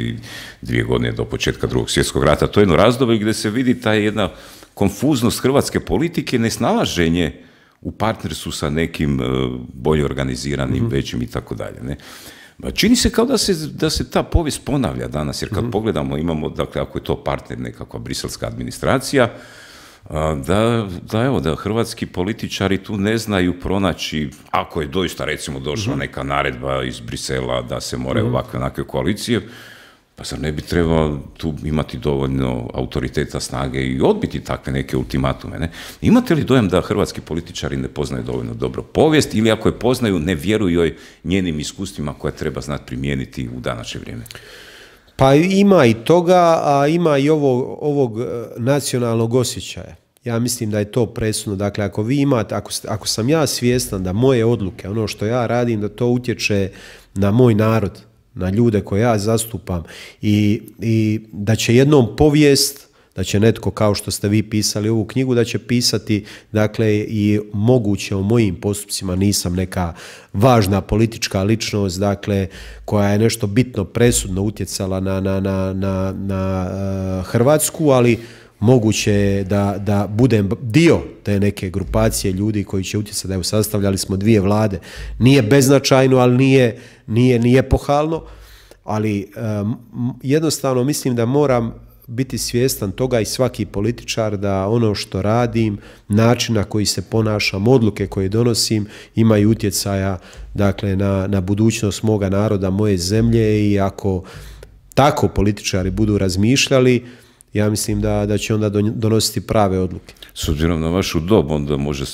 dvije godine do početka Drugog svjetskog rata. To je jedno razdoblje gdje se vidi ta jedna konfuznost hrvatske politike, nesnalaženje u partnerstvu sa nekim bolje organiziranim, mm-hmm. većim i tako dalje, ne? Čini se kao da se, da se ta povijest ponavlja danas, jer kad mm-hmm. pogledamo, imamo, dakle, ako je to partner nekakva briselska administracija, da, da, evo, da hrvatski političari tu ne znaju pronaći, ako je doista, recimo, došla mm-hmm. neka naredba iz Brisela da se moraju mm-hmm. ovakve onakve koalicije, Pa zar ne bi trebao tu imati dovoljno autoriteta, snage i odbiti takve neke ultimatume, ne? Imate li dojam da hrvatski političari ne poznaju dovoljno dobro povijest ili ako je poznaju, ne vjeruju joj njenim iskustvima koje treba znati primijeniti u današnje vrijeme? Pa ima i toga, a ima i ovog, ovog nacionalnog osjećaja. Ja mislim da je to presudno. Dakle, ako vi imate, ako, ako sam ja svjestan da moje odluke, ono što ja radim, da to utječe na moj narod, na ljude koje ja zastupam i, i da će jednom povijest, da će netko kao što ste vi pisali ovu knjigu, da će pisati dakle i moguće o mojim postupcima, nisam neka važna politička ličnost dakle koja je nešto bitno presudno utjecala na, na, na, na, na uh, Hrvatsku, ali moguće je da, da budem dio te neke grupacije ljudi koji će utjecati. Evo, sastavljali smo dvije vlade. Nije beznačajno, ali nije, nije ni epohalno, ali um, jednostavno mislim da moram biti svjestan toga i svaki političar da ono što radim, način na koji se ponašam, odluke koje donosim imaju utjecaja dakle na, na budućnost moga naroda, moje zemlje i ako tako političari budu razmišljali, ja mislim da, da će onda donositi prave odluke. S obzirom na vašu dob, onda može,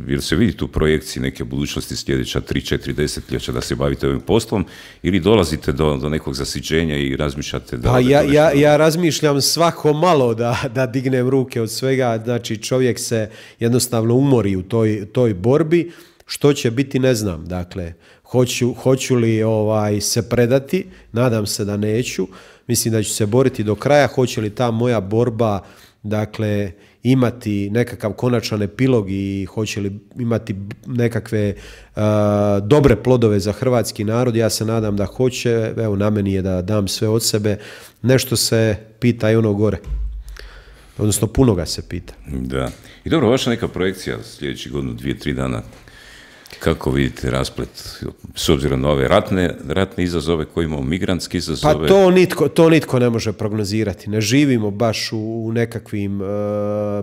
jer se vidite u projekciji neke budućnosti sljedeća tri četiri desetljeća da se bavite ovim poslom ili dolazite do, do nekog zasićenja i razmišljate da... Pa ja, ja, ja razmišljam svako malo da, da dignem ruke od svega, znači čovjek se jednostavno umori u toj, toj borbi, što će biti ne znam, dakle, hoću, hoću li ovaj, se predati, nadam se da neću, mislim da ću se boriti do kraja, hoće li ta moja borba dakle imati nekakav konačan epilog i hoće li imati nekakve uh, dobre plodove za hrvatski narod, ja se nadam da hoće, evo na meni je da dam sve od sebe, nešto se pita i ono gore, odnosno puno ga se pita. Da, i dobro, vaša neka projekcija sljedećih godinu, dvije, tri dana, kako vidite rasplet, s obzirom na ove ratne, ratne izazove koje imamo, migrantske izazove? Pa to nitko, to nitko ne može prognozirati. Ne živimo baš u nekakvim uh,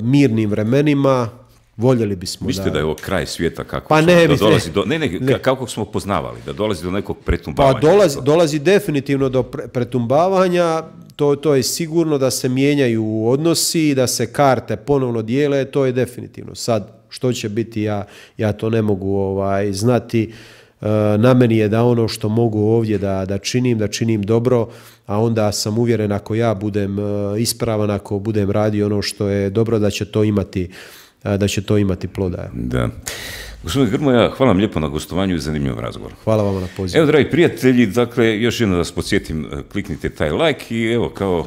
mirnim vremenima, voljeli bismo. Mislite da... da je ovo kraj svijeta kako pa smo, ne, da dolazi do, ne, ne, ne. kako smo poznavali, da dolazi do nekog pretumbavanja? Pa dolazi, dolazi definitivno do pre, pretumbavanja, to, to je sigurno da se mijenjaju odnosi, da se karte ponovno dijele, to je definitivno. Sad, što će biti, ja, ja to ne mogu ovaj, znati. E, na meni je da ono što mogu ovdje da, da činim, da činim dobro, a onda sam uvjeren ako ja budem e, ispravan, ako budem radio ono što je dobro, da će to imati, e, da će to imati ploda. Da. Gospodine Grmoja, hvala vam lijepo na gostovanju i zanimljivom razgovoru. Hvala vam na pozivu. Evo, dragi prijatelji, dakle, još jedno da vas podsjetim, kliknite taj like i evo, kao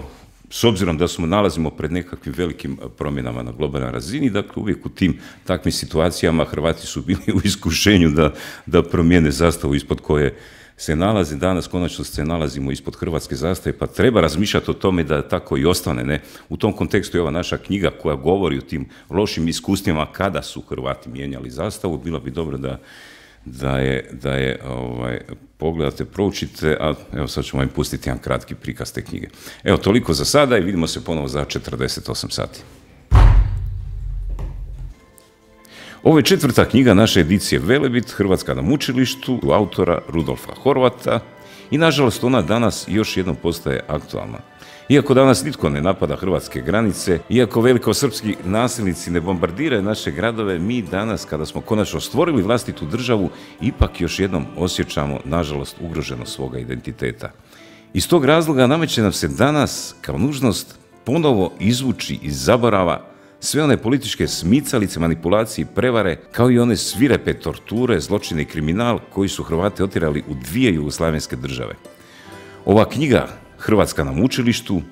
s obzirom da smo nalazimo pred nekakvim velikim promjenama na globalnoj razini, dakle uvijek u tim takvim situacijama Hrvati su bili u iskušenju da, da promijene zastavu ispod koje se nalazi. Danas konačno se nalazimo ispod hrvatske zastave, pa treba razmišljati o tome da tako i ostane. Ne? U tom kontekstu je ova naša knjiga koja govori o tim lošim iskustvima kada su Hrvati mijenjali zastavu. Bilo bi dobro da da je, da je ovaj, pogledate, proučite, a evo sad ćemo vam pustiti jedan kratki prikaz te knjige. Evo, toliko za sada i vidimo se ponovo za četrdeset osam sati. Ovo je četvrta knjiga naše edicije Velebit, Hrvatska na mučilištu, autora Rudolfa Horvata i nažalost ona danas još jednom postaje aktualna. Iako danas nitko ne napada hrvatske granice, iako velikosrpski nasilnici ne bombardiraju naše gradove, mi danas, kada smo konačno stvorili vlastitu državu, ipak još jednom osjećamo, nažalost, ugroženost svoga identiteta. Iz tog razloga nameće nam se danas, kao nužnost, ponovo izvući iz zaborava sve one političke smicalice, manipulacije i prevare, kao i one svirepe torture, zločine i kriminal koji su Hrvate otjerali u dvije jugoslavenske države. Ova knjiga, Hrvatska na mučilištu,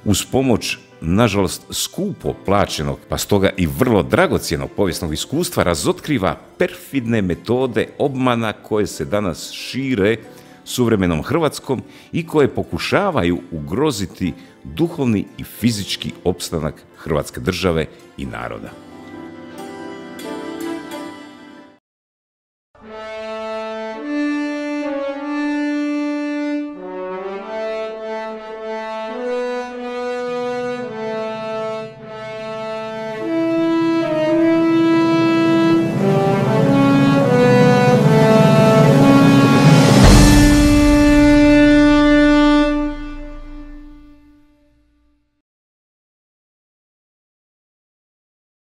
uz pomoć, nažalost, skupo plaćenog, pa stoga i vrlo dragocjenog povijesnog iskustva, razotkriva perfidne metode obmana koje se danas šire suvremenom Hrvatskom i koje pokušavaju ugroziti duhovni i fizički opstanak Hrvatske države i naroda.